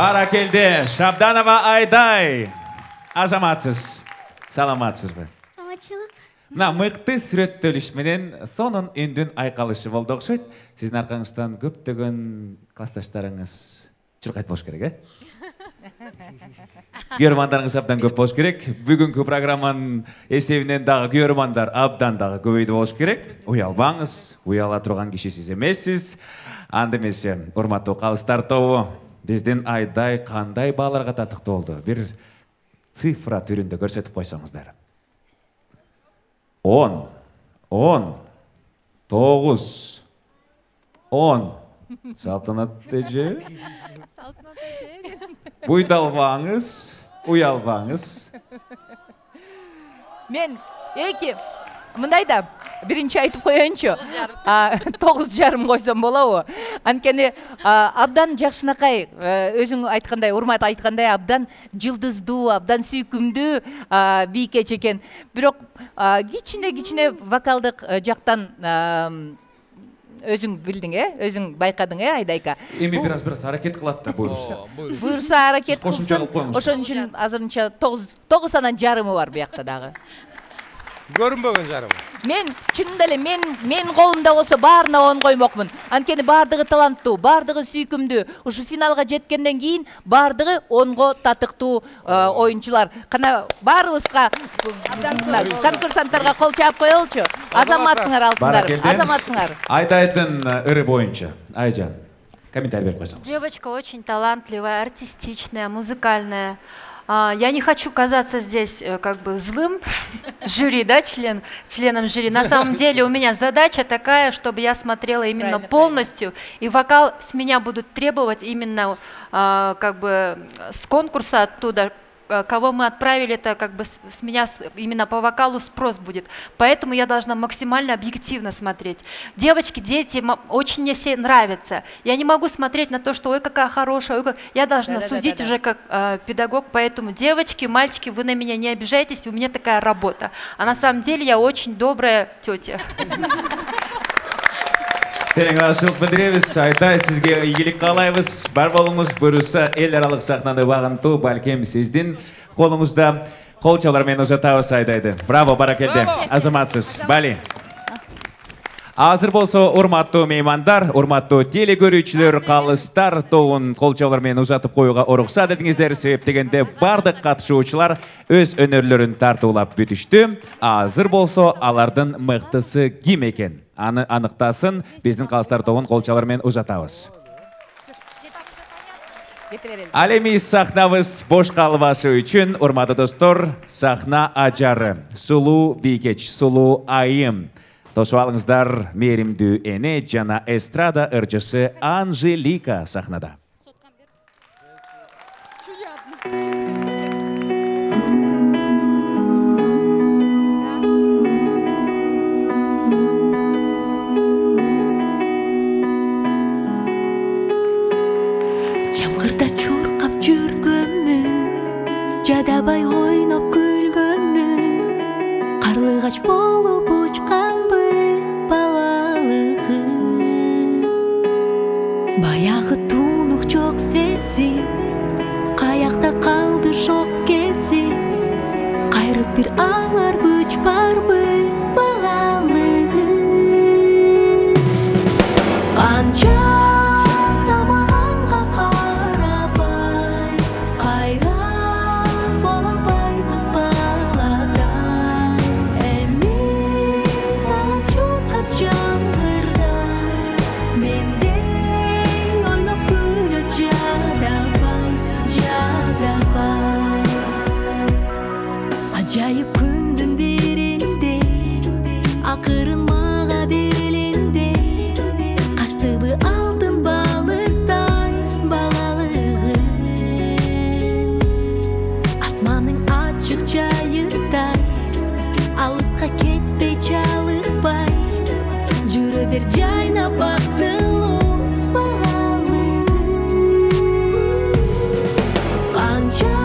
Баракелде, Шабданова Айдай. Азаматсыз. Саламатсызбы? Саламатчылык. Мына мыкты сүрөттөлүш менен сонун үндүн айкалышы болду окшойт. Сиздин аркаңыздан көптөгөн классташтарыңыз чуркайт болуш керек, э? Көрөрмандарыңыз абдан көп болуш керек. Бүгүнкү программанын эсебинен дагы көрөрмандар абдан дагы көбөйдү болуш керек. Уялбаңыз, уяла турган киши сиз эмессиз. Анда эмесе, урматтуу калыстар тобу, биздин Айдай кандай бааларга татыктуу болду? Бир цифра түрүндө көрсөтүп койсоңуздар. 10, 9, 10. Салтанат эже. Буйдалбаңыз, уялбаңыз. Мен эки мындай да биринчи айтып коеюнчу. 9,5 койсом болобу? Анткени абдан жакшынакай өзүң айткандай, урмат айткандай, абдан жылдыздуу, абдан сүйкүмдүү бийкеч экен. Бирок кичине вокалдык жактан өзүң билдиң, өзүң байкадың, Айдайка. Эми бир аз аракет кылат да буйруса. Буйруса аракет кылсын. Ошон үчүн азырынча 9 анан жарымы бар буякта дагы. Көрүнбөгөн жарым. Мен чынында эле мен колумда болсо баарына 10 коймокмун. Анткени баардыгы таланттуу, баардыгы сүйкүмдүү. Ушу финалга жеткенден кийин баардыгы 10го татыктуу оюнчулар. Кана баарыбызга конкурсанттарга кол чаап коелучу. Азаматсыңар алтындарым, азаматсыңар. Айдайдын ыры боюнча, Айжан, комментарий берип койсоңуз. Девочка очень талантливая, артистичная, музыкальная. Я не хочу казаться здесь как бы злым жюри, да, членом жюри. На самом деле у меня задача такая, чтобы я смотрела именно полностью, и вокал с меня будут требовать именно как бы с конкурса оттуда, кого мы отправили, это как бы с меня именно по вокалу спрос будет. Поэтому я должна максимально объективно смотреть. Девочки, дети, очень мне все нравятся. Я не могу смотреть на то, что ой, какая хорошая, ой, как... Я должна судить уже как педагог. Поэтому, девочки, мальчики, вы на меня не обижайтесь, у меня такая работа. А на самом деле я очень добрая тетя. Терең рахмат билдиребиз. Айдай, сизге ийгилик каалайбыз. Бар болуңуз, буюрса эл аралык сахнаны багынтуу балким сиздин колуңузда. Кол чалар менен узатабыз Айдайды. Браво, баракелде. Азаматсыз. Бали. Азыр болсо, урматтуу меймандар, урматтуу телекөрүүчүлөр, калыстар тобун кол чалар менен узатып коюуга уруксат этиңиздер. Себеп дегенде бардык катышуучулар өз өнөрлөрүн тартуулап бүтүштү. Азыр болсо, алардын мыктысы ким экен? Аны аныктасын, биздин калыстар тобун кол чалар менен узатабыз. Ал эми сахнабыз бош калбашы үчүн, урматтуу достор, сахна ажары, сулуу бийкеч, сулуу айым. Тосуп алыңыздар, мээримдүү эне жана эстрада ырчысы Анжелика сахнада. Жамгырда чуркап жүргөнмүн, жадабай ойноп күлгөнмүн, карлыгач болуп учканбы балалыгым. Баягы тунук жок сезим, каякта калды жок кезим, кайрып бир алар күч барбы балалыгым. Канча Acayip күндүн биринде, акырын мага берилинде, качтыбы алдын балыктай балалыгым. Асманның ачык жайырдай, алыска кетпей чалыкпай, жүрө бер жайнап бактылуу балалыгым. Канча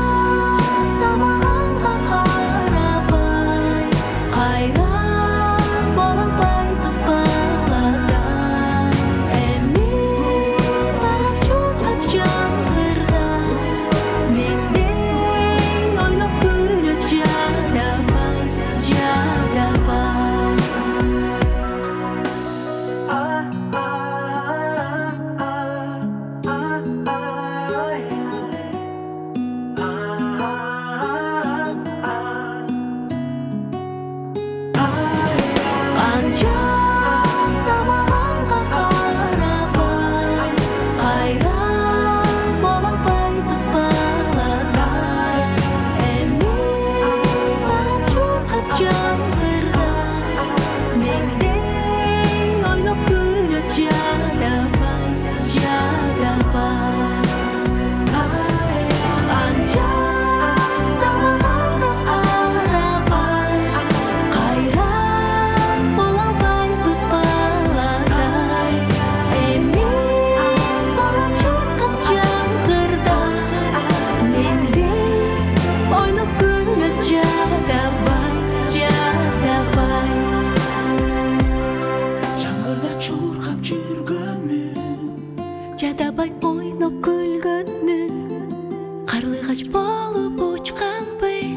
кыргач болуп учканбы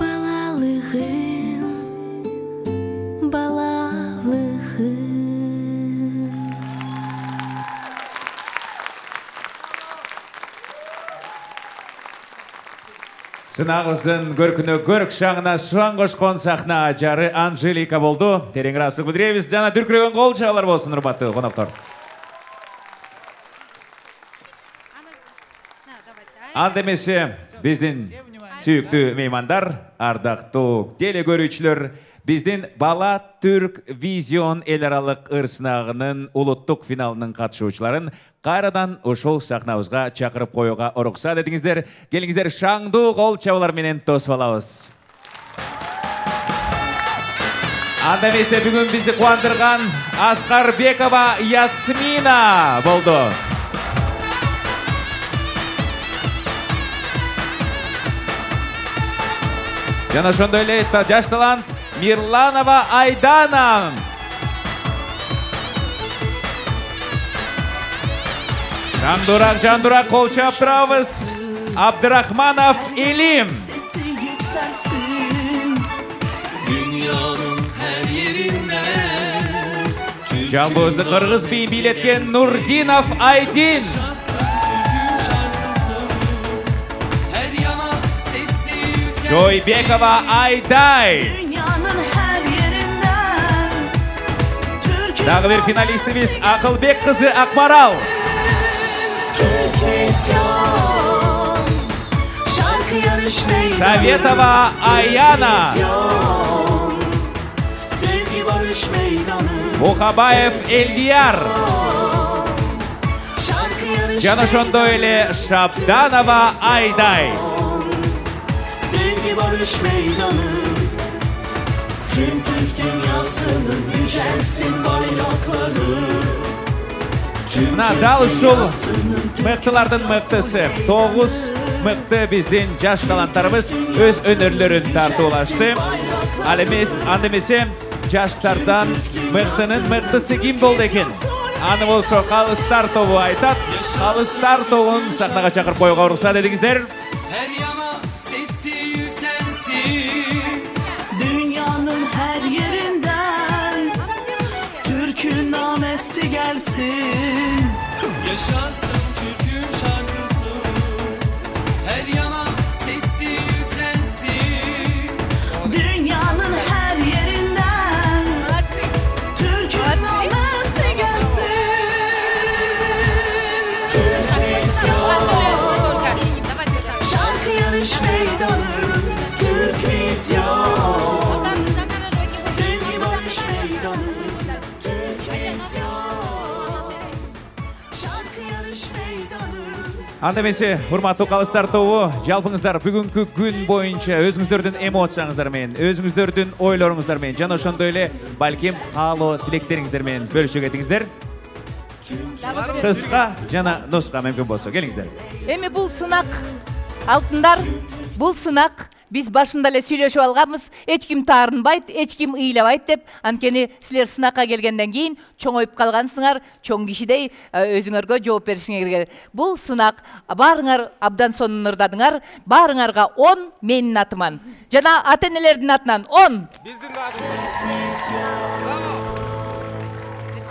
балалыгым балалыгым. Сынагыбыздын көркүнө көрк шагына шаң кошкон сахна ажары Анжелика болду. Терең ыраазычылык билдиребиз жана дүркүрөгөн кол чабуулар болсун, урматтуу коноктор. Анда эмесе биздин сүйүктүү меймандар, ардактуу теле көрүүчүлөр, биздин Бала Түрк Визион эл аралык ыр сынагынын улуттук финалынын катышуучуларын кайрадан ушул сахнабызга чакырып коюуга уруксат этиңиздер. Келиңиздер, шаңдуу кол чабуулар менен тосуп алабыз. Анда эмесе бүгүн бизди кубандырган Аскарбекова Ясмина болду. Жана ошондой эле жаш талант Мирланова Айдана. Жандурак кол чап турабыз. Абдырахманов Илим. Жамбызды кыргыз бийин бийлеткен Нурдинов Айдин. Жойбекова Айдай. Дагы бир финалистибиз Акылбек кызы Акмарал. Советова Аяна. Мухабаев Элдияр. Жана ошондой эле Шабданова Айдай. Barış meydanı, tüm Türk dünyasının yücelsin bayrakları. Мына дал ушул мыктылардын мыктысы 9 мыкты биздин жаш таланттарыбыз өз өнөрлөрүн тартуулашты. Ал анда эмесе жаштардан мыктынын мыктысы ким болду экен? Аны болсо Калыстар тобу айтат. Калыстар тобун сахнага чакырып коюуга уруксат этиңиздер. Gelsin, yaşarsın Türk'ün şarkısı, her yana sesi yükselsin. Dünyanın her yerinden Türk'ün namesi gelsin. Türk Vizyon, şarkı yarış meydanı, Türk Vizyon, sevgi barış meydanı, Türk Vizyon. Анда эмесе, урматтуу Калыстар тобу, жалпыңыздар бүгүнкү күн боюнча өзүңүздөрдүн эмоцияңыздар менен, өзүңүздөрдүн ойлоруңуздар менен жана ошондой эле балким каалоо тилектериңиздер менен бөлүшө кетиңиздер. Кыска жана нуска мүмкүн болсо келиңиздер. Эми бул сынак, алтындар, бул сынак биз башында эле сүйлөшүп алганбыз, эч ким таарынбайт, эч ким ыйлабайт деп. Анткени силер сынакка келгенден кийин чоңоюп калгансыңар, чоң кишидей өзүңөргө жооп беришиңер керек. Бул сынак баарыңар абдан сонун ырдадыңар, баарыңарга 10 менин атыман. Жана ата-энелердин атынан 10. Биздин атынан.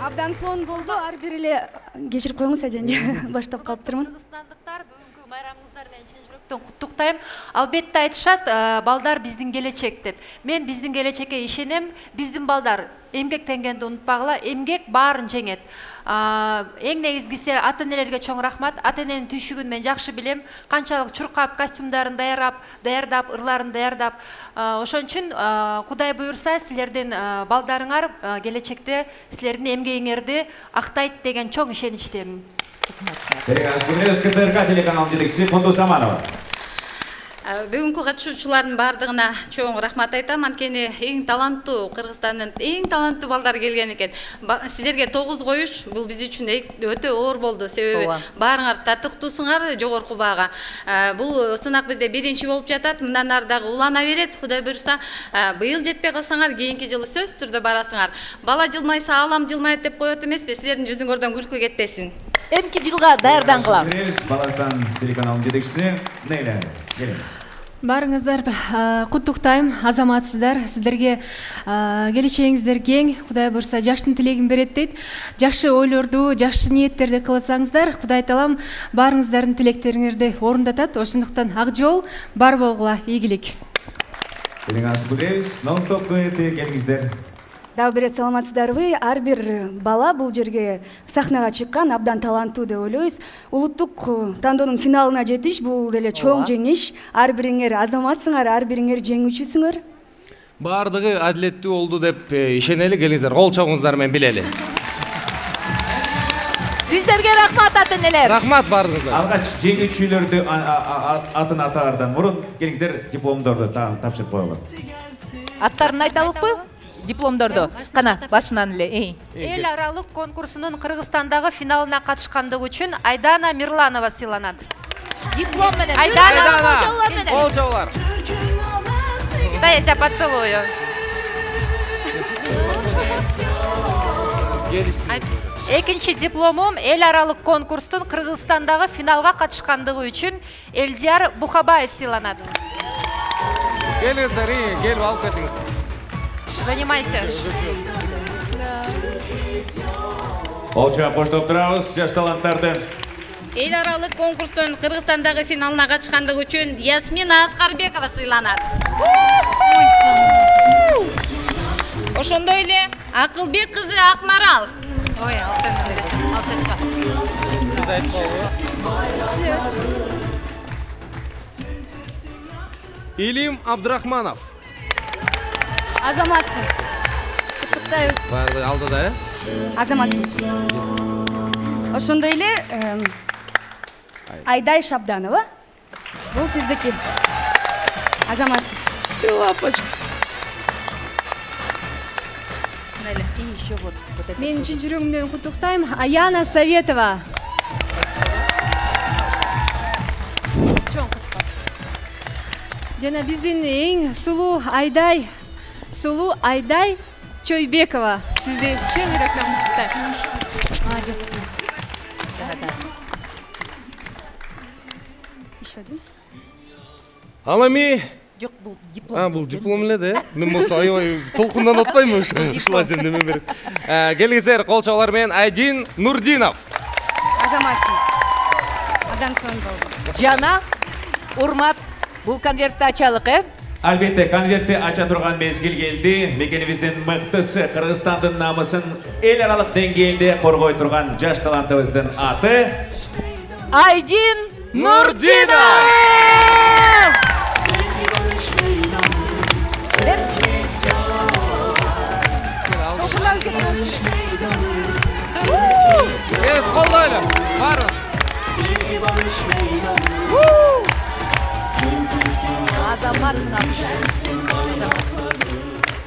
Абдан сонун болду, ар бир эле кечирип коюңуз ажан. Баштап калыптырмын. Кыргызстандыктар бүгүнкү майрамыңыздар менен чын жүрөктөн куттуктайм. Албетте айтышат, балдар биздин келечек деп. Мен биздин келечекке ишенем. Биздин балдар эмгектенгенди унутпагыла, эмгек баарын жеңет. Эң негизгиси ата-энелерге чоң рахмат. Ата-эненин түйшүгүн мен жакшы билем. Канчалык чуркап, костюмдарын даярдап, ырларын даярдап. Ошон үчүн Кудай буйрса, силердин балдарыңар келечекте силердин эмгегиңерди актайт деген чоң ишеничтемин. КТРК телеканалынын жетекчиси Кундуз Аманова. Бүгүнкү катышуучулардын баардыгына чоң рахмат айтам. Анткени эң таланттуу Кыргызстандын эң таланттуу балдары келген экен. Силерге 9 коюш бул биз үчүн өтө оор болду. Себеби баарыңар татыктуусуңар жогорку баага. Бул сынак бизде биринчи болуп жатат. Мындан ары дагы улана берет. Кудай буйрса, быйыл жетпей калсаңар, кийинки жылы сөзсүз түрдө барасыңар. Бала жылмайса алам жылмайт деп коет эмеспи? Силердин жүзүңөрдөн күлкү кетпесин. эмки жылга даярдангыла. Баластан телеканалынын жетекчиси Нейля, келиңиз. Барыңыздар куттуктайм, азаматсыздар. Сиздерге келечегиңиздер кең. Кудай бурса жаштын тилегин берет дейт. Жакшы ойлорду, жакшы ниеттерди кылсаңыздар, Кудай таалам баарыңыздардын тилектериңерди орундатат. Ошондуктан ак жол бар болгула, ийгилик. Келиңиз күтөбүз. Non-stop келиңиздер. Дагы бир саламатсыздарбы? Ар бир бала бул жерге сахнага чыккан абдан таланттуу деп ойлойбуз. Улуттук тандоонун финалына жетиш бул деле чоң жеңиш. Ар бириңер азаматсыңар, ар бириңер жеңүүчүсүңөр. Бардыгы адилеттүү болду деп ишенели, келиңиздер, кол чабыңыздар менен билели. Сиздерге рахмат ата-энелер. Рахмат бардыгыңыздар. Алгач жеңүүчүлөрдү атын атаардан мурун келиңиздер дипломдорду тапшырып коелу. Аттарын айталыкпы? Дипломдорду кана башынан эле. Эл аралык конкурсунун Кыргызстандагы финалына катышкандыгы үчүн Айдана Мирланова сыйланат. Диплом менен. Айдана, кол чабуулар. Дай я тебя поцелую. Экинчи дипломум эл аралык конкурстун Кыргызстандагы финалга катышкандыгы үчүн Элдияр Бухабаев сыйланат. Келиңиздер, келип алып кетиңиз. Занимайся. Олча коштоп турабыз жаш таланттарды. Эл аралык конкурстун Кыргызстандагы финалына катышкандыгы үчүн Ясмина Аскарбекова сыйланат. Ошондой эле Акылбек кызы Акмарал. Ой, алтышка. Илим Абдрахманов. Азаматсың. Куттуктайбыз. Барды алдыда, Азаматсың. Ошондой эле Айдай Шабданова. Бул сиздики. Азаматсыз. Лапочка. Мен чын жүрөгүмдөн куттуктайм. Аяна Советова. Чоң кызга. Жана биздин эң сулуу Айдай Чойбекова. Сизди чын жүрөктөн куттуктайм. Еще один. Алами. Жок, бул диплом. Бул диплом эле да. Мен болсо аябай толкундан атпайм ушулай сен неме берет. Келиңиздер, кол чабуулар менен Айдин Нурдинов. Азаматсың. Адан соң болду. Жана урмат, бул конвертти ачалык, Албетте, конвертти ача турган мезгил келди. Мекенибиздин мыктысы, Кыргызстандын намысын эл аралык деңгээлде коргой турган жаш талантыбыздын аты Айдин Нурдинов. Kes kollayla. Varız.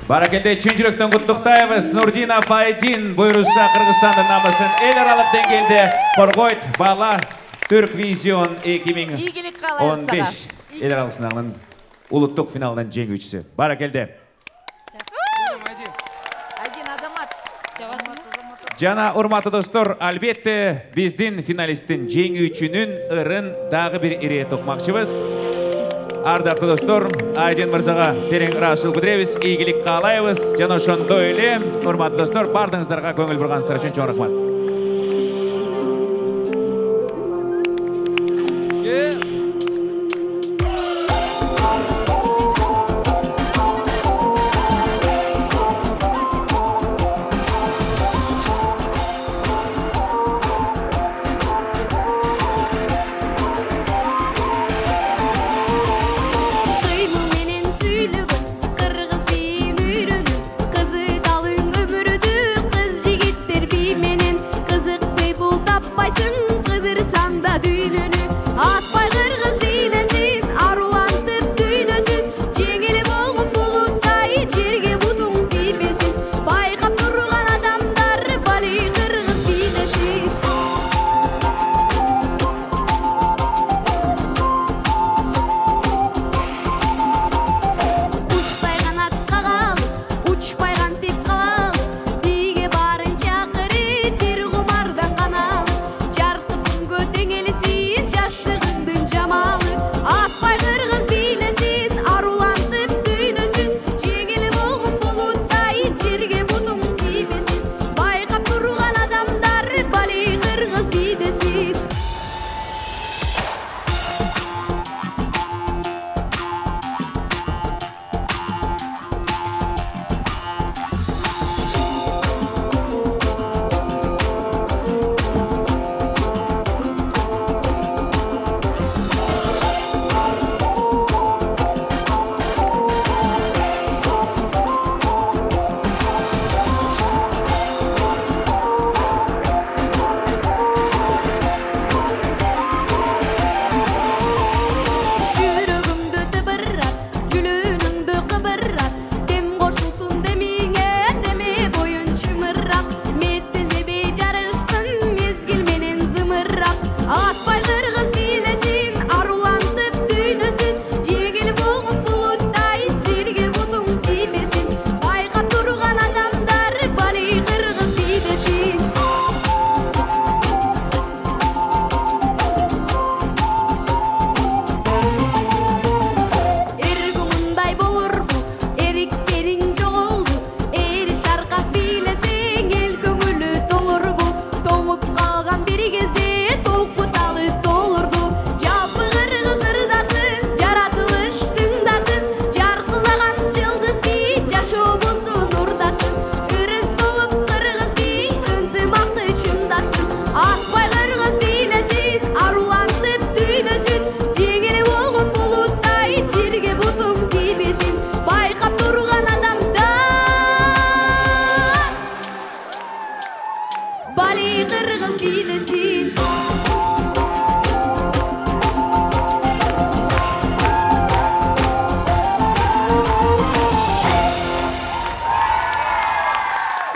Баракелде чын жүрөктөн куттуктайбыз. Нурдинов Айдин буйруса Кыргызстандын намысын эл аралык деңгээлде коргойт. Бала Түрквизион 2015 эл аралык сынагынын улуттук финалынын жеңүүчүсү. Баракелде. Жана урматтуу достор, албетте биздин финалисттин жеңүүчүнүн ырын дагы бир ирет укмакчыбыз. Ардактуу достор, Айдин мырзага терең ыраазычылык билдиребиз, ийгилик каалайбыз. Жана ошондой эле, урматтуу достор, бардыгыңыздарга көңүл бурганыңыздар үчүн чоң рахмат. Кыргыз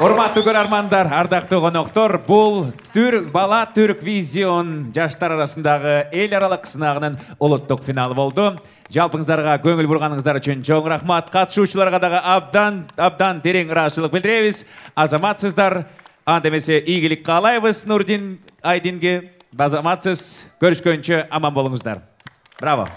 Урматтуу көрөрмандар, ардактуу коноктор, бул бала Түрк Визион жаштар арасындагы эл аралык сынагынын улуттук финалы болду. Жалпыңыздарга көңүл бурганыңыздар үчүн чоң рахмат. Катышуучуларга дагы абдан терең ыраазычылык билдиребиз. Азаматсыздар, анда эмесе ийгилик каалайбыз Нурдин Айдинге. Азаматсыз, көрүшкөнчө аман болуңуздар. Браво.